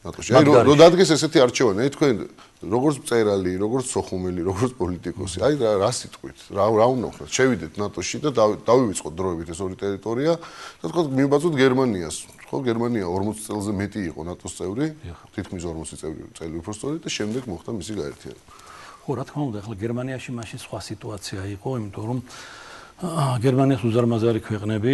ნატოში. აი რომ დადგეს ესეთი არჩევანი, აი თქვენ როგორც მწერალი, როგორც სოხუმელი, როგორც პოლიტიკოსი, აი რა სიტყვით, რა უნდა ვხდეთ, შევიდეთ ნატოში და დავივიწყოთ დროებით ეს ორი ტერიტორია და თქვა მივბაძოთ გერმანიას. ხო, გერმანია 40 წელზე მეტი იყო ნატოს წევრი, თითქმის 40 წელი უფრო სწორედ და შემდეგ მოხდა მისი გაერთიანება. ხო, რა თქმა უნდა, ახლა გერმანიაში მაშინ სხვა სიტუაცია იყო, იმიტომ რომ გერმანიის უზარმაზარი ქვეყნები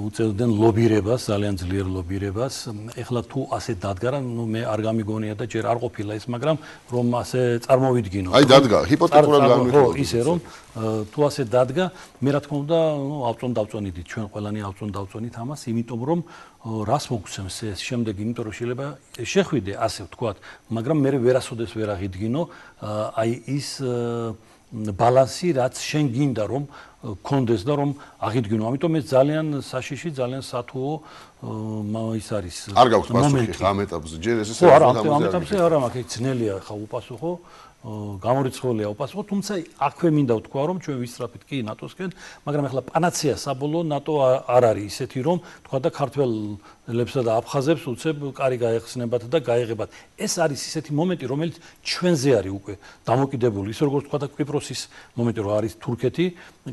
უწევდნენ ლობირებას, ძალიან ძლიერ ლობირებას. ეხლა თუ ასე დადგა, ნუ მე არ გამიგონია და ჯერ არ ყოფილა ის, მაგრამ რომ ასე წარმოვიდგინო. აი დადგა, ჰიპოთეტურად განვიხილოთ. ისე რომ თუ ასე დადგა, მე რა თქმა უნდა, ნუ ავწონდავწონიდით, ჩვენ ყველანი ავწონდავწონით ამას, იმიტომ რომ რას მოგცემს ეს შემდეგ, იმიტომ რომ შეიძლება შეხვიდე ასე ვთქვათ, მაგრამ მე ვერასოდეს ვერ აღიდგინო აი ის ბალანსი, რაც შენ გინდა რომ კონდეს და რომ აღიდგინო. ამიტომ ეს ძალიან საშიში, ძალიან სათუო ის არის. არ გაქვს პასუხი ამ ეტაპზე. ჯერ ეს ხო, არა, ამ ეტაპზე არა მაქვს, ძნელია ხა უპასუხო. გამორიცხულია უპასუხო, თუმცა აქვე მინდა ვთქვა, რომ ჩვენ ვისწრაფით კი ნატოსკენ, მაგრამ ახლა პანაცეა საბოლოო ნატო არ არის ისეთი, რომ თქვა და ქართველებსა და აფხაზებს უცებ კარი გაეხსნებათ და გაეღებათ. ეს არის ისეთი მომენტი, რომელიც ჩვენზე არის უკვე დამოკიდებული. ისე როგორც თქვა და კვიპროსის მომენტი, რომ არის თურქეთი,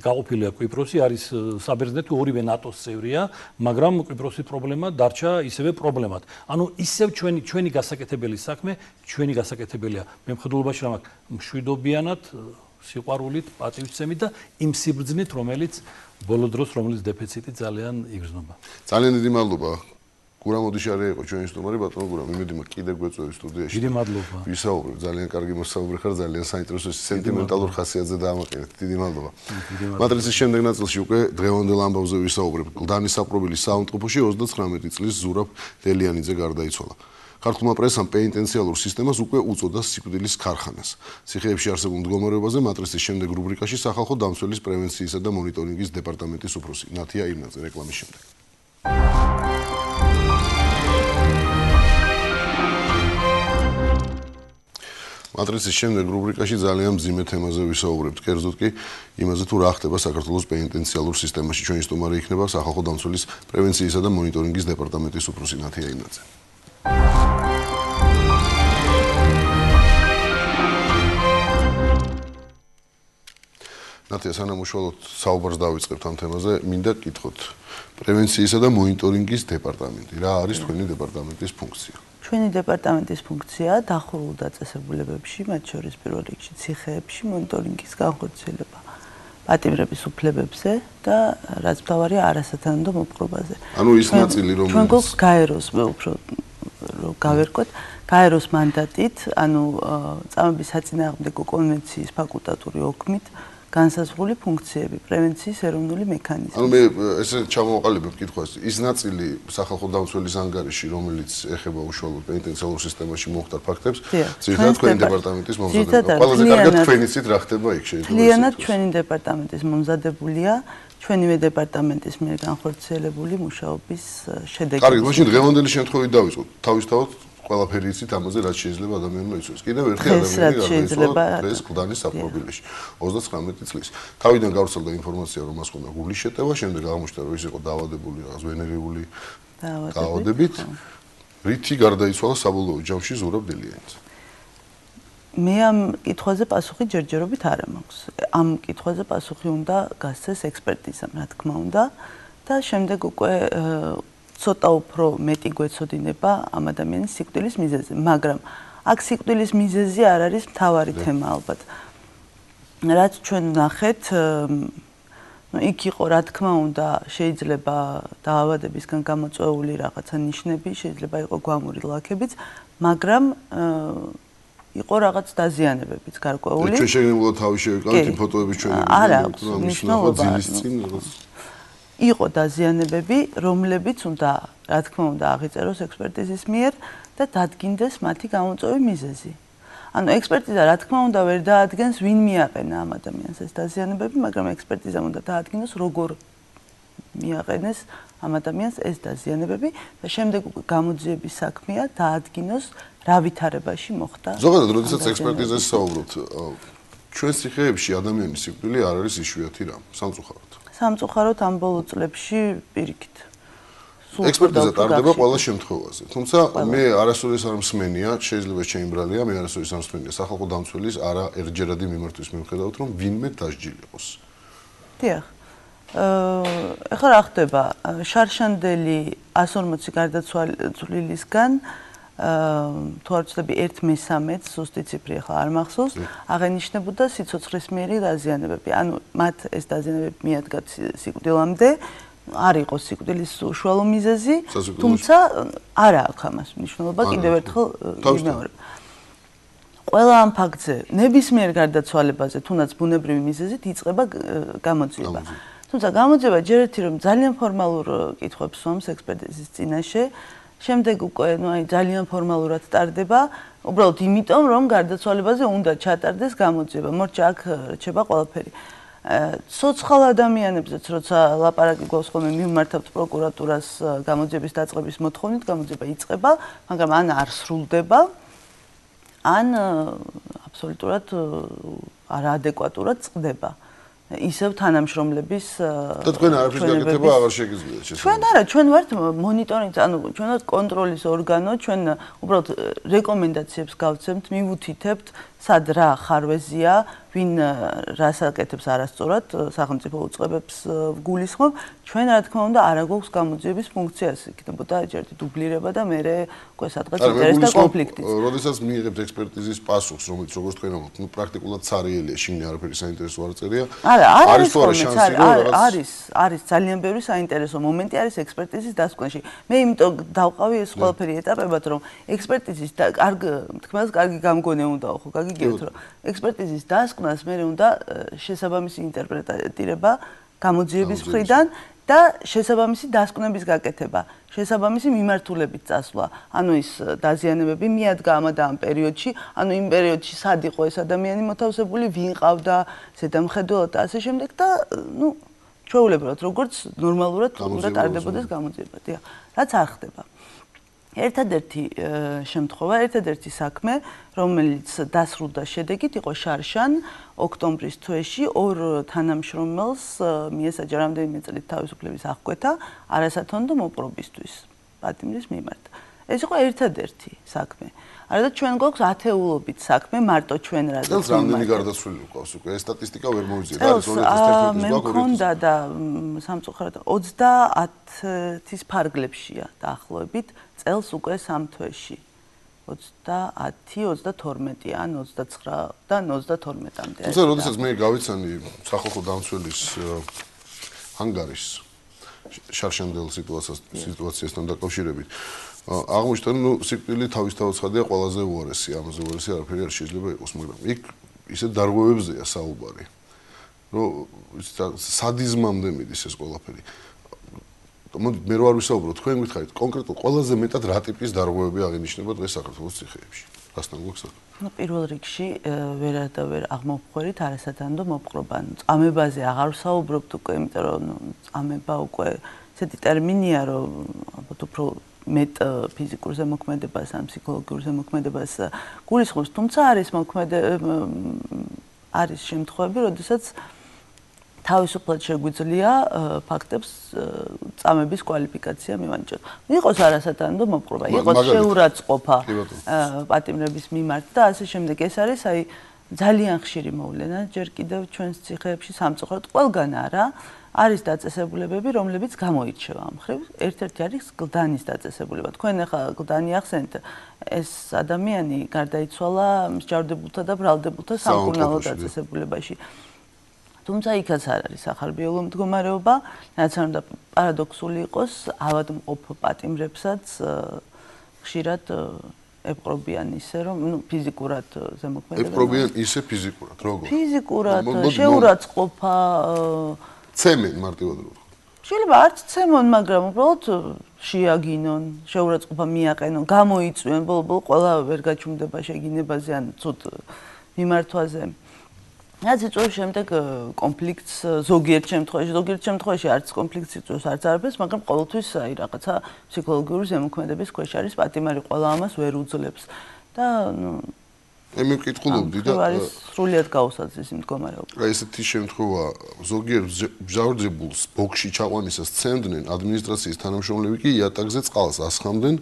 გაყოფილია კვიპროსი, არის საბერძნეთი, ორივე ნატოს წევრია, მაგრამ კვიპროსის პრობლემა დარჩა ისევე პრობლემად. ანუ ისევ ჩვენი გასაკეთებელი საქმე, ჩვენი გასაკეთებელია მემხედველობაში რა მშვიდობიანად, სიყვარულით, პატივისცემით და იმ სიბრძნით, რომელიც ბოლო დროს რომელიც დეფიციტი ძალიან იგრძნობა. ძალიან დიდი მადლობა. გურამ ოდიშარი იყო ჩვენი სტუმარი, ბატონო გურამ, იმედი მაქვს კიდევ გვეწვევი სტუდიაში. დიდი მადლობა. ვისაუბრებ, ძალიან კარგი მოსაუბრი ხარ, ძალიან საინტერესო სენტიმენტალურ ხასიათზე დაამაყენეთ. დიდი მადლობა. მატრიცის შემდეგ ნაწილში უკვე დღევანდელ ამბავზე ვისაუბრებ. კლდანის საპრობილის საავადმყოფოში 39 წლის ზურაბ დელიანიძე გარდაიცვალა. ქართულმა პრესამ პენიტენციალურ სისტემას უკვე უწოდა სიკვდილის ქარხანას. ციხეებში არსებულ მდგომარეობაზე მატრიცის შემდეგ რუბრიკაში სახალხო დამცველის პრევენციისა და მონიტორინგის დეპარტამენტის უფროსი ნათია იმნაძე რეკლამის შემდეგ. მატრიცის შემდეგ რუბრიკაში ძალიან მძიმე თემაზე ვისაუბრებთ. კერძოდ კი იმაზე თუ რა ხდება საქართველოს პენიტენციალურ სისტემაში. ჩვენი სტუმარი იქნება სახალხო დამცველის პრევენციისა და მონიტორინგის დეპარტამენტის უფროსი ნათია იმნაძე. ნათია, სანამ უშუალოდ საუბარს დავიწყებთ ამ თემაზე, მინდა გკითხოთ პრევენციისა და მონიტორინგის დეპარტამენტი. რა არის თქვენი დეპარტამენტის ფუნქცია? ჩვენი დეპარტამენტის ფუნქცია დახურულ დაწესებულებებში, მათ შორის პირველ რიგში ციხეებში მონიტორინგის განხორციელება პატიმრების უფლებებზე და რაც მთავარია არასათანადო მოპყრობაზე. ანუ ის ნაწილი რომელიც ჩვენ გვაქვს გაეროს, მე უფრო რომ გავერკვეთ, გაეროს მანდატით, ანუ წამების საწინააღმდეგო კონვენციის ფაკულტატური ოქმით განსაზღვრული ფუნქციები, პრევენციის ეროვნული მექანიზმი. ანუ მე ესე ჩამოვაყალიბებ კითხვას, ის ნაწილი სახალხო დამცველის ანგარიში, რომელიც ეხება უშუალოდ პენიტენციალურ სისტემაში მომხდარ ფაქტებს, ძირითადად თქვენი დეპარტამენტის მომზადება. ყველაზე კარგად თქვენი ცით რა ხდება იქ შეიძლება. მთლიანად ჩვენი დეპარტამენტის მომზადებულია, ჩვენივე დეპარტამენტის მიერ განხორციელებული მუშაობის შედეგი. კარგი, მაშინ დღევანდელი შემთხვევით დავიწყოთ. თავისთავად ყველაფერი იცით ამაზე, რაც შეიძლება ადამიანმა იცოდეს. კიდევ ერთი ადამიანი გარდაიცვალა დღეს კლდანის საპრობილეში 39 წლის. თავიდან გავრცელდა ინფორმაცია, რომ მას ჰქონდა გულის შეტევა, შემდეგ აღმოჩნდა, რომ ის იყო დაავადებული რაღაც ვენერიული დაავადებით. რითი გარდაიცვალა საბოლოო ჯამში ზურაბ დელიანიძე? მე ამ კითხვაზე პასუხი ჯერჯერობით არ მაქვს. ამ კითხვაზე პასუხი უნდა გასცეს ექსპერტიზამ, რა თქმა უნდა, და შემდეგ უკვე ცოტა უფრო მეტი გვეცოდინება ამ ადამიანის სიკვდილის მიზეზზე, მაგრამ აქ სიკვდილის მიზეზი არ არის მთავარი თემა ალბათ. რაც ჩვენ ვნახეთ, იქ იყო რა თქმა უნდა, შეიძლება დაავადებისგან გამოწვეული რაღაცა ნიშნები, შეიძლება იყო გვამური ლაქებიც, მაგრამ იყო რაღაც დაზიანებებიც გარკვეული. ჩვენ შეგნებულად თავი შევიკავეთ იმ ფოტოების ჩვენი არა აქვს მნიშვნელობა. იყო დაზიანებები, რომლებიც უნდა, რა თქმა უნდა, აღიწეროს ექსპერტიზის მიერ და დადგინდეს მათი გამოწვევის მიზეზი. ანუ ექსპერტიზა რა თქმა უნდა ვერ დაადგენს ვინ მიაყენა ამ ადამიანს ეს დაზიანებები, მაგრამ ექსპერტიზამ უნდა დაადგინოს როგორ მიაყენეს ამ ადამიანს ეს დაზიანებები და შემდეგ უკვე გამოძიების საქმეა დაადგინოს რა ვითარებაში მოხდა. ზოგადად, როდესაც ექსპერტიზას საუბრობთ, ჩვენ ციხეებში ადამიანის სიკვდილი არ არის იშვიათი რამ, სამწუხაროდ. სამწუხაროდ ამ ბოლო წლებში პირიქით. ექსპერტიზა ტარდება ყველა შემთხვევაზე. თუმცა მე არასოდეს არ მსმენია, შეიძლება შეიმბრალია, მე არასოდეს არ მსმენია სახალხო დამცველის არა ერთჯერადი მიმართვის მიუხედავად, რომ ვინმე დასჯილიყოს. დიახ. ეხლა რა ხდება? შარშანდელი 140 გარდაცვალილისგან თუ არ ვცდები 1/3 ზუსტი ციფრი ახლა არ მახსოვს, აღენიშნებოდა სიცოცხლის მიერი დაზიანებები. ანუ მათ ეს დაზიანებები მიადგათ სიკვდილამდე, არ იყო სიკვდილის უშუალო მიზეზი, თუმცა არ აქვს ამას მნიშვნელობა, კიდევ ერთხელ ვიმეორებ. ყველა ამ ფაქტზე ნებისმიერ გარდაცვალებაზე, თუნდაც ბუნებრივი მიზეზით იწყება გამოძიება. თუმცა გამოძიება ჯერ ერთი რომ ძალიან ფორმალურ კითხვებს სვამს ექსპერტიზის წინაშე, შემდეგ უკვე ძალიან ფორმალურად ტარდება, უბრალოდ იმიტომ რომ გარდაცვალებაზე უნდა ჩატარდეს გამოძიება. მორჩა აქ რჩება ყველაფერი. ცოცხალ ადამიანებზეც როცა ლაპარაკი გვაქვს ხოლმე მივმართავთ პროკურატურას გამოძიების დაწყების მოთხოვნით, გამოძიება იწყება, მაგრამ ან არ სრულდება, ან აბსოლუტურად არაადეკვატურად წყდება. ისევ თანამშრომლების და თქვენ არაფრის გაკეთება აღარ შეგიძლიათ შესაძლოა. ჩვენ არა, ჩვენ ვართ მონიტორინგის, ანუ ჩვენ ვართ კონტროლის ორგანო, ჩვენ უბრალოდ რეკომენდაციებს გავცემთ, მივუთითებთ, სად რა ხარვეზია, ვინ რას აკეთებს არასწორად, სახელმწიფო უწყებებს გულისხმობ, ჩვენ რა თქმა უნდა არ აგვაქვს გამოძიების ფუნქციას, იქნებოდა ჯერჯერობით დუბლირება და მე უკვე სადღაც ინტერესთა კონფლიქტი. როდესაც მიიღებთ ექსპერტიზის პასუხს, რომელიც როგორც თქვენ ამბობთ, პრაქტიკულად სარიელია, შიგნით არაფერი საინტერესო არ წერია. არის ძალიან ბევრი საინტერესო მომენტი არის ექსპერტიზის დასკვნაში. მე იმიტომ დავყავი ეს ყველაფერი ეტაპებად, რომ ექსპერტიზის თქმას კარგი გამგონე უნდაო, ხო, გაგიგებთ, რომ ექსპერტიზის დასკვნას მე უნდა შესაბამისი ინტერპრეტირება გამოძიების მხრიდან და შესაბამისი დასკვნების გაკეთება, შესაბამისი მიმართულებით წასვლა. ანუ ის დაზიანებები მიადგა ამ და ამ პერიოდში, ანუ იმ პერიოდში სად იყო ეს ადამიანი მოთავსებული, ვინ ყავდა, ზედამხედველად და ასე შემდეგ და ჩვეულებრივად როგორც ნორმალურად უნდა ტარდებოდეს გამოძიება. დიახ, რაც არ ხდება. ერთადერთი შემთხვევა, ერთადერთი საქმე, რომელიც დასრულდა შედეგით, იყო შარშან ოქტომბრის თვეში ორ თანამშრომელს მიესაჯა რამდენიმე წელით თავისუფლების აღკვეთა არასათანადო მოპყრობისთვის პატიმრის მიმართ. ეს იყო ერთადერთი საქმე. არადა ჩვენ გვაქვს ათეულობით საქმე, მარტო ჩვენ რაზეც. წელს რამდენი გარდაცვლილი გვყავს უკვე? ეს სტატისტიკა ვერ მოვიძიეთ. არის 2011 წლის გვაქვს. მქონდა და სამწუხაროდ 30-ის ფარგლებშია დაახლოებით. წელს უკვე 3 თვეში 30, 32 ან 29 და 32-მდე. თუმცა როდესაც მე გავიცანი სახალხო დამცველის ანგარის შარშანდელ სიტუაციასთან დაკავშირებით, აღმოჩნდა, სიკვდილი თავისთავად ცხადია ყველაზე უარესი, ამაზე უარესი არაფერი არ შეიძლება იყოს, მაგრამ იქ ისე დარღვევებზეა საუბარი, რომ სადიზმამდე მიდის ეს ყველაფერი. მოდით მე რო არ ვისაუბრო, თქვენ გითხარით კონკრეტულად ყველაზე მეტად რა ტიპის დარღვევები აღინიშნება დღეს საქართველოს ციხეებში. რასთან გვაქვს საქმე? პირველ რიგში ვერა და ვერ აღმოვხვერით არასათანადო მოპყრობა. წამებაზე აღარ ვსაუბრობთ უკვე, იმიტომ რომ წამება უკვე ესეთი ტერმინია, რომ ალბათ უფრო მეტ ფიზიკურ ზემოქმედებას ან ფსიქოლოგიურ ზემოქმედებას გულისხმობს, თუმცა არის შემთხვევები, როდესაც თავისუფლად შეგვიძლია ფაქტებს წამების კვალიფიკაცია მივანიჭოთ. იყოს არასათანადო მოპყრობა, იყოს შეურაცხყოფა პატიმრების მიმართ და ასე შემდეგ. ეს არის ძალიან ხშირი მოვლენა, ჯერ კიდევ ჩვენს ციხეებში სამწუხაროდ ყველგან არა, არის დაწესებულებები, რომლებიც გამოირჩევა ამ მხრივ. ერთ-ერთი არის გლდანის დაწესებულება. თქვენ ახლა გლდანი ახსენეთ, ეს ადამიანი გარდაიცვალა მსჯავრდებულთა და ბრალდებულთა სამკურნალო დაწესებულებაში. თუმცა იქაც არ არის ახალბიოლო მდგომარეობა, რაც არ უნდა პარადოქსული იყოს, ავადმყოფ პატიმრებსაც ხშირად ეპყრობიან ისე, რომ ფიზიკურად ზემოქმედება. ეპყრობიან ისე ფიზიკურად, როგორ? ფიზიკურად, შეურაცხყოფა, ცემენ მარტივად რო ვთქვა. შეიძლება არც ცემონ, მაგრამ უბრალოდ შეაგინონ, შეურაცხყოფა მიაყენონ, გამოიწვიონ, ბოლო-ბოლო ყველა ვერ გაჩუმდება შეგინებაზე ან ცუდ მიმართვაზე. რაც იწვევს შემდეგ კონფლიქტს ზოგიერთ შემთხვევაში არც კონფლიქტს იწვევს, არც არაფერს, მაგრამ ყოველთვის რაღაცა ფსიქოლოგიური ზემოქმედების ქვეშ არის პატიმარი, ყველა ამას ვერ უძლებს და მე ვკითხულობდი და არის სრულიად გაუსაძის მდგომარეობა. ესეთი შემთხვევა ზოგიერთ მჟავრდებულს ბოქში ჩაყვანისას ცემდნენ, ადმინისტრაციის თანამშრომლები კი იატაკზე წყალს ასხამდნენ,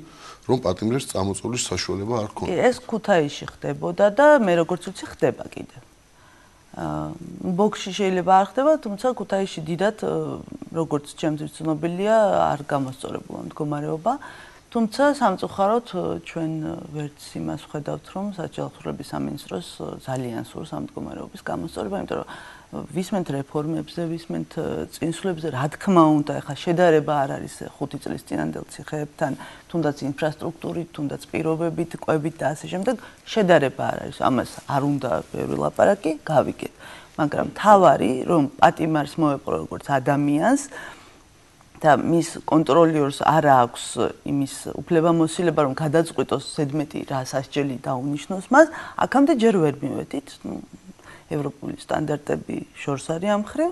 რომ პატიმრებს წამოწვევის საშუალება არ ქონდა. ეს ქუთაისში ხდებოდა და მე როგორც ვიცი ხდება კიდევ. ბოქში შეიძლება არ ხდება, თუმცა ქუთაისში დიდად როგორც ჩემთვის ცნობილია, არ გამოსწორებულა მდგომარეობა. თუმცა სამწუხაროდ ჩვენ ვერც იმას ვხედავთ, რომ საჯაროთურების სამინისტროს ძალიან სურს ამ მდგომარეობის გამოსწორება, იმიტომ რომ ვისმენთ რეფორმებზე, ვისმენთ წინსვლებზე, რა თქმა უნდა, ეხლა შედარება არ არის 5 წლის წინანდელ ციხეებთან, თუნდაც ინფრასტრუქტურით, თუნდაც პირობებით, კვებით და ასე შემდეგ, შედარება არ არის. ამას არ უნდა ბევრი ლაპარაკი, გავიგეთ. მაგრამ თავარი, რომ პატიმარს მოეპყრო როგორც ადამიანს და მის კონტროლიორს არ აქვს იმის უფლებამოსილება, რომ გადაწყვიტოს ზედმეტი რა სასჯელი დაუნიშნოს მას, აქამდე ჯერ ვერ მივედით. ევროპული სტანდარტები შორს არის ამ მხრივ.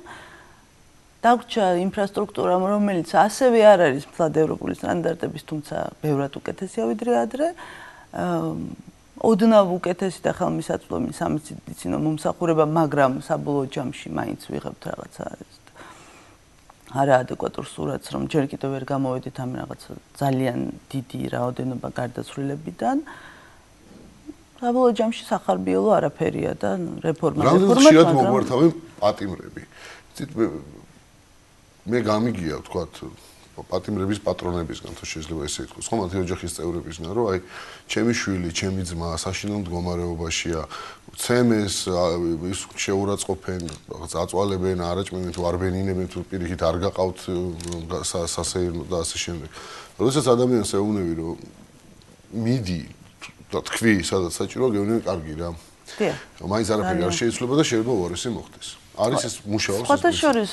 დაგვრჩა ინფრასტრუქტურა, რომელიც ასევე არ არის მთლად ევროპული სტანდარტების, თუმცა ბევრად უკეთესია ვიდრე ადრე. ოდნავ უკეთესი და ხელმისაწვდომი სამედიცინო მომსახურება, მაგრამ საბოლოო ჯამში მაინც ვიღებთ რაღაცა არაადეკვატურ სურათს, რომ ჯერ კიდევ ვერ გამოვედით ამ რაღაცა ძალიან დიდი რაოდენობა გარდაცვლილებიდან. საბოლოო ჯამში სახარბიელო არაფერია და რეფორმა. რამდენად ხშირად მოგვართავენ პატიმრები. მე გამიგია, ვთქვათ, პატიმრების პატრონებისგან, თუ შეიძლება ესე ითქვას, ხო, მათი ოჯახის წევრებისგან, რომ აი, ჩემი შვილი, ჩემი ძმა საშინელ მდგომარეობაშია, ცემეს, ის შეურაცხყოფენ, რაღაც აწვალებენ, არაჭმევენ, თუ არ ბენინებენ, თუ პირიქით არ გაყავთ სასეირნო და ასე შემდეგ. როდესაც ადამიანს ეუბნები, რომ მიდი და თქვი, სადაც საჭიროა, გეუბნები, კარგი რა. დიახ. მაინც არაფერი არ შეიძლება და შეიძლება უარესი მოხდეს. არის ეს მუშაობს? სხვათა შორის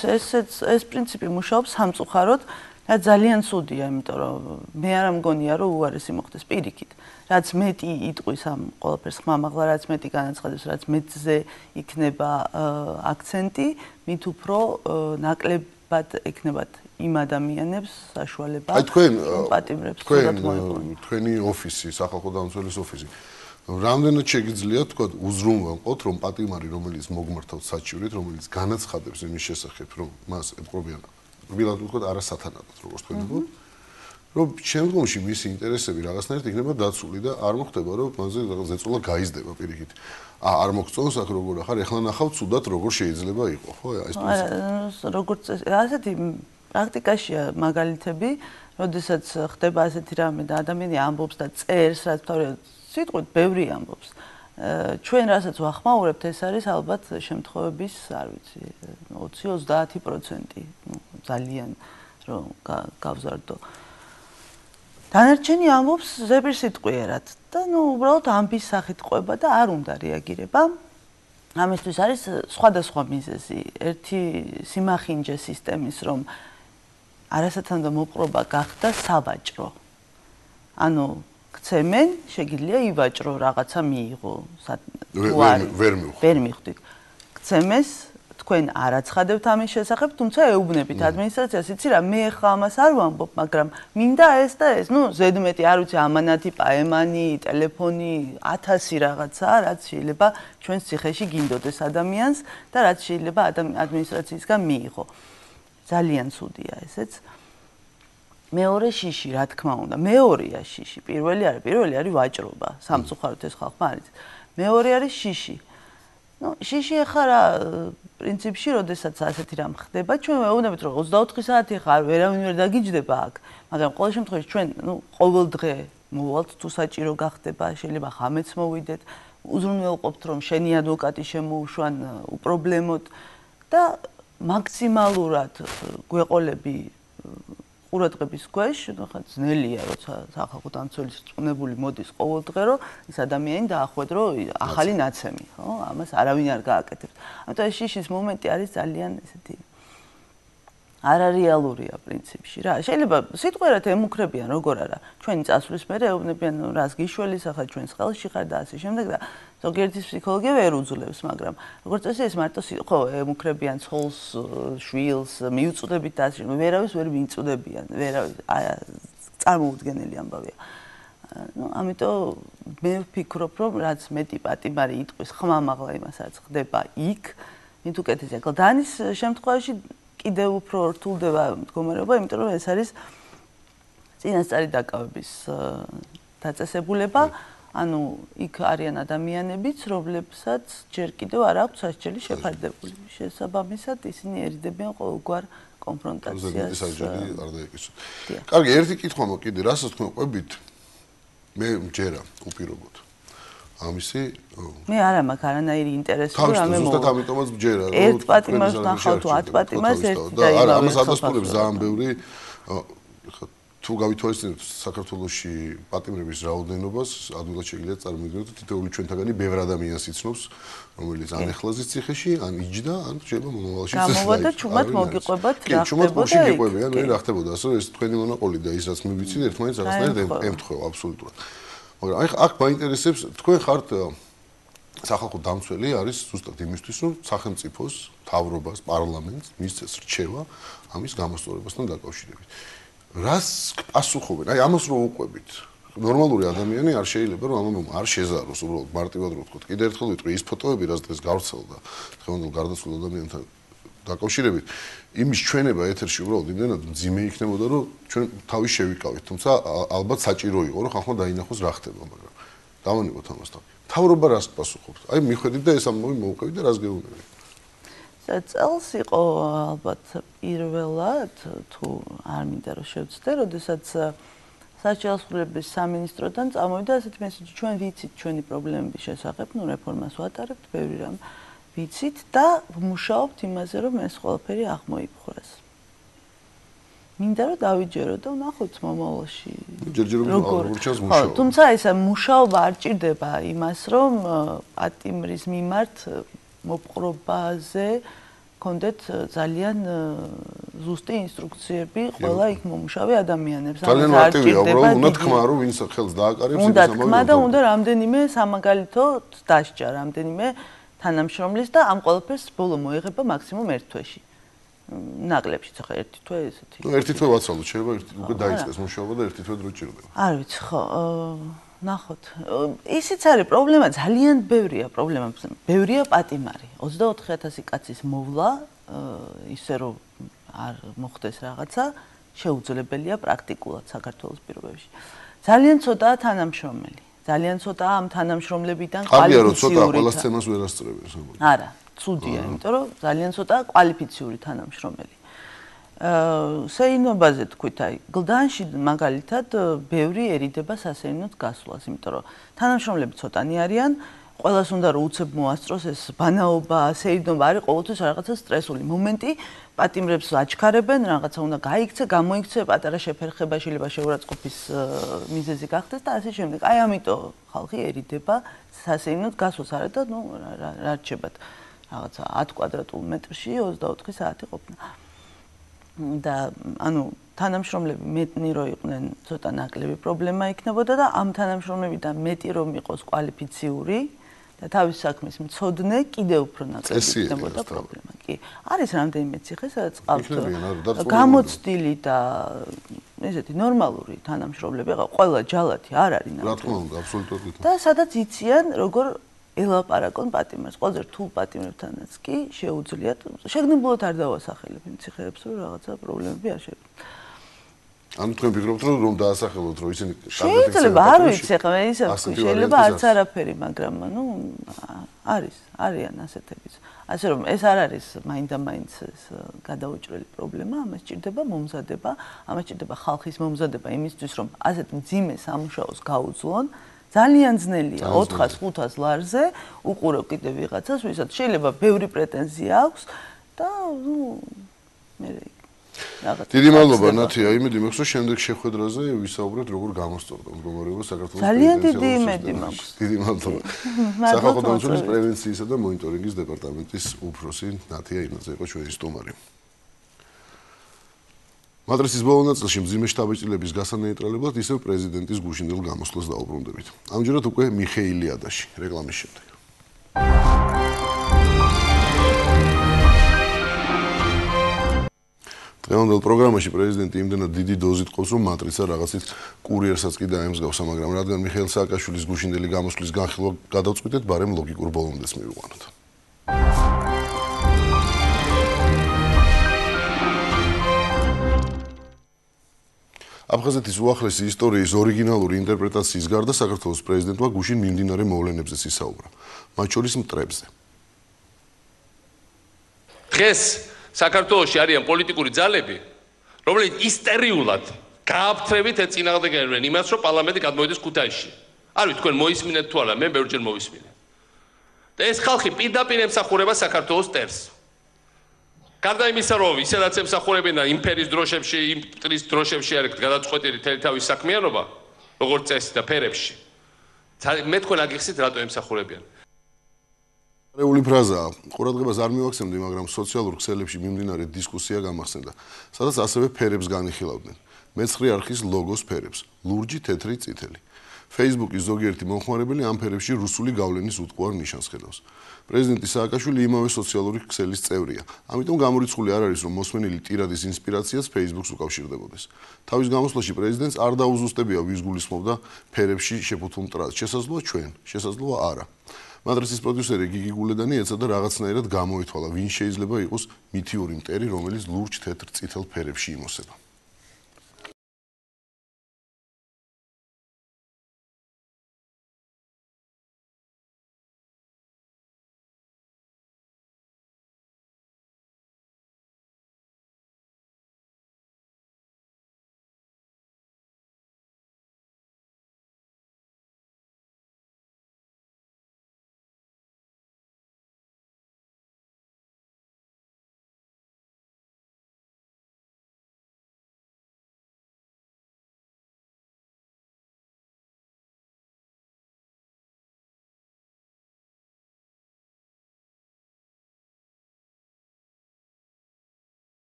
ეს პრინციპი მუშაობს სამწუხაროდ. და ძალიან ცუდია, იმიტომ რომ მე არ მგონია, რომ უარესი მოხდეს პირიქით. რაც მეტი იტყვის ამ ყველაფერს ხმამაღლა, რაც მეტი განაცხადებს, რაც მეტზე იქნება აქცენტი, მით უფრო ნაკლებად ექნებათ იმ ადამიანებს საშუალება, რომ პატიმრებს თუდად მოეყოლონ. თქვენი ოფისი, სახალხო დამცველის ოფისი. რამდენად შეგიძლიათ თქვა უზრუნველყოთ, რომ პატიმარი, რომელიც მოგმართავთ საჭიროით, რომელიც განაცხადებს იმის შესახებ, რომ მას ეთყობიან ვილად ვთქვათ არასათანადოდ როგორც თქვენ გქონდ რომ შემდგომში მისი ინტერესები რაღაცნაირად იქნება დაცული და არ მოხდება რომ მასზე რაღაც ზეწოლა გაიზრდება პირიქით არ მოგწონს აქ როგორ ახარ ეხლა ნახავ ცუდად როგორ შეიძლება იყო ხო ეს პრინციპი როგორც ასეთი პრაქტიკაშია მაგალითები როდესაც ხდება ასეთი რამე და ადამიანი ამბობს და წერს რაც თავად სიტყვით ბევრი ამბობს ჩვენ რასაც ვახმაურებთ ეს არის ალბათ შემთხვევების არ ვიცი 20-30% ძალიან რომ გავზარდო დანარჩენი ამბობს ზეპირსიტყვიერად და უბრალოდ ამბის სახით ყვება და არ უნდა რეაგირება ამისთვის არის სხვადასხვა მიზეზი ერთი სიმახინჯე სისტემის რომ არასათანადო მოპყრობა გახდა სავაჭრო ანუ ქცემენ, შეგიძლია ივაჭრო რაღაცა მიიღო. ვერ მივხვდით. ქცემეს, თქვენ არ აცხადებთ ამის შესახებ, თუმცა ეუბნებით ადმინისტრაციას, იცი რა, მე ხა ამას არ ვამბობ, მაგრამ მინდა ეს და ეს. ნუ ზედმეტი არ ვიცი, ამანათი, პაემანი, ტელეფონი, 1000 რაღაცა, რაც შეიძლება ჩვენს ციხეში გინდოდეს ადამიანს და რაც შეიძლება ადმინისტრაციისგან მიიღო. ძალიან ცუდია ესეც. მეორე შიში, რა თქმა უნდა, მეორეა შიში. პირველი არის ვაჭრობა. სამწუხაროდ ეს ხალხმა არის. მეორე არის შიში. ნუ შიში ახლა რა პრინციპში, როდესაც ასეთი რამ ხდება, ჩვენ ვეუბნებით, რომ 24 საათი ხარ, ვერავინ ვერ დაგიჯდება აქ, მაგრამ ყოველ შემთხვევაში ჩვენ, ნუ ყოველ დღე მოვალთ თუ საჭირო გახდება, შეიძლება ხამეც მოვიდეთ, უზრუნველყოფთ, რომ შენი ადვოკატი შემოუშვან უპრობლემოდ და მაქსიმალურად გვეყოლები ყურადღების ქვეშ, ხა ძნელია, როცა სახალხო დამცველის რწმუნებული მოდის ყოველ დღე, რომ ის ადამიანი დაახვედრო ახალი ნაცემი, ხო? ამას არავინ არ გააკეთებს. ამიტომ ეს შიშის მომენტი არის ძალიან ესეთი არარეალურია პრინციპში რა. შეიძლება სიტყვიერად ემუქრებიან როგორ არა. ჩვენი წასვლის მერე ეუბნებიან, რას გიშველის, ახლა ჩვენს ხელში ხარ და ასე შემდეგ და ზოგიერთის ფსიქოლოგია ვერ უძლებს, მაგრამ როგორც წესი ეს მარტო ხო ემუქრებიან ცოლს, შვილს, მიუწოდებით და ასე ვერავის ვერ მიუწოდებიან, ვერავის წარმოუდგენელი ამბავია. ნუ ამიტომ მე ვფიქრობ, რომ რაც მეტი პატიმარი იტყვის ხმამაღლა იმასაც ხდება იქ, მით უკეთესია. კლდანის შემთხვევაში კიდევ უფრო რთულდება მდგომარეობა, იმიტომ რომ ეს არის წინასწარი დაკავების დაწესებულება. ანუ იქ არიან ადამიანებიც, რომლებსაც ჯერ კიდევ არ აქვს სასჯელი შეფარდებული. შესაბამისად, ისინი ერიდებიან ყოველგვარ კონფრონტაციას. არ დაეკისო. კარგი, ერთი კითხვა მოკიდე, რასაც თქვენ ყვებით, მე მჯერა უპირობოდ. ამისი მე არა მაქვს არანაირი ინტერესი რომ ამე ზუსტად ამიტომაც მჯერა რომ ერთ პატიმარს ნახავ თუ 10 პატიმარს ერთი და არა ამას ადასტურებს ძალიან ბევრი თუ გავითვალისწინებთ საქართველოში პატიმრების რაოდენობას ადვილად შეგიძლიათ წარმოვიდგინოთ თითოეული ჩვენთაგანი ბევრ ადამიანს იცნობს რომელიც ან ეხლაზის ციხეში ან იჯდა ან შეიძლება მომავალში გამოვადა ჩუმად მოგიყვებათ რა ხდებოდა მე რა ხდებოდა ასე ეს თქვენი მონაყოლი და ის რაც მე ვიცი ერთმანეთს რაღაცნაირად ემთხვევა აბსოლუტურად მაგრამ აქ მაინტერესებს თქვენ ხართ სახალხო დამცველი არის ზუსტად იმისთვის რომ სახელმწიფოს მთავრობას პარლამენტს მისცეს რჩევა ამის გამოსწორებასთან დაკავშირებით რას პასუხობენ აი ამას რო უყვებით ნორმალური ადამიანი არ შეიძლება რომ ამამ არ შეზაროს უბრალოდ მარტივად რო ვთქვათ კიდე ერთხელ ვიტყვი ის ფოტოები რაც დღეს გავრცელდა დღევანდელ გარდაცვლილ ადამიანთან დაკავშირებით იმის ჩვენება ეთერში უბრალოდ იმდენად მძიმე იქნებოდა რომ ჩვენ თავის შევიკავით თუმცა ალბათ საჭირო იყო რომ ხალხმა დაინახოს რა ხდება მაგრამ დავანებოთ ამას თავი თავრობა რას პასუხობთ აი მიხედით და ეს ამბავი მოუყევით და რას გეუბნებით წელს იყო ალბათ პირველად თუ არ მინდა რომ შევცდე როდესაც საჯარისწყლების სამინისტროდან წამოვიდა ასეთი მესიჯი ჩვენ ვიცით ჩვენი პრობლემების შესახებ ნუ რეფორმას ვატარებთ ბევრი რამ ვიცით და ვმუშაობთ იმაზე რომ ეს ყველაფერი აღმოიფხვრას. მინდა რომ დავიჯერო და ვნახოთ მომავალში. როგორ ჩანს მუშაობა. თუმცა ეს მუშაობა არ ჭირდება იმას რომ პატიმრის მიმართ მოპყრობაზე კონდეთ ძალიან ზუსტი ინსტრუქციები ყველა იქ მომუშავე ადამიანებს. ძალიან მარტივია, უბრალოდ უნდა თქმა რომ ვინც ხელს დააკარებს უნდა თქმა და უნდა რამდენიმე სამაგალითო დასჯა, რამდენიმე თანამშრომლის და ამ ყველაფერს ბოლო მოიღება მაქსიმუმ 1 თვეში. ნაკლებშიც ახლა 1 თვე ესეთი. ნუ 1 თვე ვაცვალოთ, შეიძლება უკვე დაიწყეს მუშაობა და 1 თვე დრო ჭირდება. არ ვიცი, ხო, ნახოთ. ისიც არის პრობლემა, ძალიან ბევრია პრობლემა. ბევრია პატიმარი. 24000 კაცის მოვლა, ისე რომ არ მოხდეს რაღაცა, შეუძლებელია პრაქტიკულად საქართველოს პირობებში. ძალიან ცოტაა თანამშრომელი. ძალიან ცოტაა ამ თანამშრომლებიდან კვალიფიციური. კარგია, რომ ცოტაა, ყველა სცენას ვერ ასწრებენ. არა, ცუდია, იმიტომ რომ ძალიან ცოტაა კვალიფიციური თანამშრომელი. სეინობაზე თქვით, აი, გლდანში მაგალითად ბევრიერიდება სასეინოდ გასვლას, იმიტომ რომ თანამშრომლები ცოტანი არიან, ყველას უნდა რომ უცებ მოასწროს ეს ბანაობა, სეინობა არის ყოველთვის რაღაცა სტრესული მომენტი, პატიმრებს აჩქარებენ, რაღაცა უნდა გაიქცე, გამოიქცე, პატარა შეფერხება შეიძლება შეურაცხყოფის მიზეზი გახდეს და ასე შემდეგ. აი, ამიტომ ხალხიერიდება სასეინოდ გასვლას არა და ნუ რა რჩებათ რაღაცა 10 კვადრატულ მეტრში 24 საათი ყოფნა. და ანუ თანამშრომლები მეტნი რო იყვნენ, ცოტა ნაკლები პრობლემა იქნებოდა და ამ თანამშრომლებიდან მეტი რომ იყოს კვალიფიციური და თავის საქმის მცოდნე, კიდევ უფრო ნაკლები იქნებოდა პრობლემა. კი, არის რამდენიმე ციხე, სადაც ყავთ გამოცდილი და ესეთი ნორმალური თანამშრომლები, ყველა ჯალათი არ არის რა თქმა უნდა, აბსოლუტურად. და სადაც იციან როგორ ელაპარაკონ პატიმრებს, ყველაზე რთულ პატიმრებთანაც კი შეუძლიათ. შეგნებულად არ დავასახელებ იმ ციხეებს, რომ რაღაცა პრობლემები არ შეგვიძლია. ანუ თქვენ ფიქრობთ, რომ დაასახელოთ, რომ ისინი შეიძლება, არ ვიცი, ახლა მე ისე ვთქვი, შეიძლება არც არაფერი, მაგრამ ანუ არიან ასეთებიც. ასე რომ ეს არ არის მაინდა-მაინც ეს გადაუჭრელი პრობლემა, ამას ჭირდება მომზადება, ამას ჭირდება ხალხის მომზადება იმისთვის, რომ ასეთ მძიმე სამუშაოს გაუძლონ. ძალიან ძნელია 400-500 ლარზე უყურო კიდე ვიღაცას, ვისაც შეიძლება ბევრი პრეტენზია აქვს და ნუ მე რაღაცა. დიდი მადლობა ნათია, იმედი მაქვს, რომ შემდეგ შეხვედრაზე ვისაუბრებთ როგორ გამოსწორდა მდგომარეობა საქართველოს ძალიან დიდი იმედი მაქვს. დიდი მადლობა. სახალხო დამცველის პრევენციისა და მონიტორინგის დეპარტამენტის უფროსი ნათია იმაძე იყო ჩვენი სტუმარი. მატრიცის ბოლო ნაწილში მძიმე შთაბეჭდილების გასანეიტრალებლად ისევ პრეზიდენტის გუშინდელ გამოსვლას დაუბრუნდებით. ამჯერად უკვე მიხეილი ადაში, რეკლამის შემდეგ. დღევანდელ პროგრამაში პრეზიდენტი იმდენად დიდი დოზით ყავს, რომ მატრიცა რაღაცით კურიერსაც კი დაემსგავსა, მაგრამ რადგან მიხეილ სააკაშვილის გუშინდელი გამოსვლის განხილვა გადავწყვიტეთ, ბარემ ლოგიკურ ბოლომდეც მივიყვანოთ. აფხაზეთის უახლესი ისტორიის ორიგინალური ინტერპრეტაციის გარდა საქართველოს პრეზიდენტმა გუშინ მიმდინარე მოვლენებზეც ისაუბრა, მათ შორის მტრებზე. დღეს საქართველოში არიან პოლიტიკური ძალები, რომლებიც ისტერიულად გააფთრებით ეწინააღმდეგებიან იმას, რომ პარლამენტი გადმოვიდეს ქუთაისში. არ ვიცი თქვენ მოისმინეთ თუ არა, მე ბევრჯერ მოვისმინე. და ეს ხალხი პირდაპირ ემსახურება საქართველოს ტერს. გარდა იმისა, რომ ისედაც ემსახურებენ იმპერიის დროშებში, იმ მტრის დროშებში არის გადაწყვეტილი თელი თავის საქმიანობა, როგორც წესი და ფერებში. მე თქვენ აგიხსით რატო ემსახურებიან. რეული ფრაზაა, ყურადღებას არ მივაქცევდი, მაგრამ სოციალურ ქსელებში მიმდინარე დისკუსია გამახსენდა, სადაც ასევე ფერებს განიხილავდნენ. მეცხრე არხის ლოგოს ფერებს, ლურჯი, თეთრი, წითელი. Facebook-ის ზოგიერთი მომხმარებელი ამ ფერებში რუსული გავლენის უტყუარ ნიშანს ხედავს. პრეზიდენტი სააკაშვილი იმავე სოციალური ქსელის წევრია. ამიტომ გამორიცხული არ არის, რომ მოსმენილი ტირადის ინსპირაციას Facebook-ს უკავშირდებოდეს. თავის გამოსვლაში პრეზიდენტს არ დაუზუსტებია, ვის გულისხმობდა ფერებში შეფუთულ მტრას. შესაძლოა ჩვენ, შესაძლოა არა. მატრიცის პროდიუსერი გიგი გულედანი ეცადა რაღაცნაირად გამოითვალა, ვინ შეიძლება იყოს მითიური მტერი, რომელიც ლურჯ, თეთრ, წითელ ფერებში იმოსება.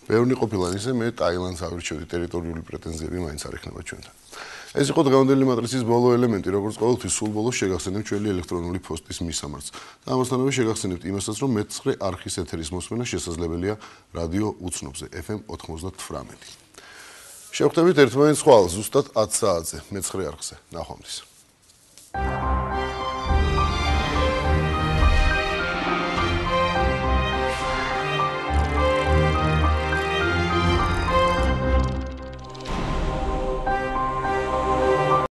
ბევრი ყოფილა ისე, მე ტაილანდს ავირჩევდი, ტერიტორიული პრეტენზიები მაინც არ ექნება ჩვენთან. ეს იყო დღევანდელი მატრიცის ბოლო ელემენტი, როგორც ყოველთვის სულ ბოლოს შეგახსენებთ ჩვენი ელექტრონული პოსტის მისამართს. და ამასთანავე შეგახსენებთ იმასაც, რომ მეცხრე არხის ეთერის მოსმენა შესაძლებელია რადიო უცნობზე FM 99. შევხვდებით ერთმანეთს ხვალ ზუსტად 10 საათზე მეცხრე არხზე. ნახვამდის.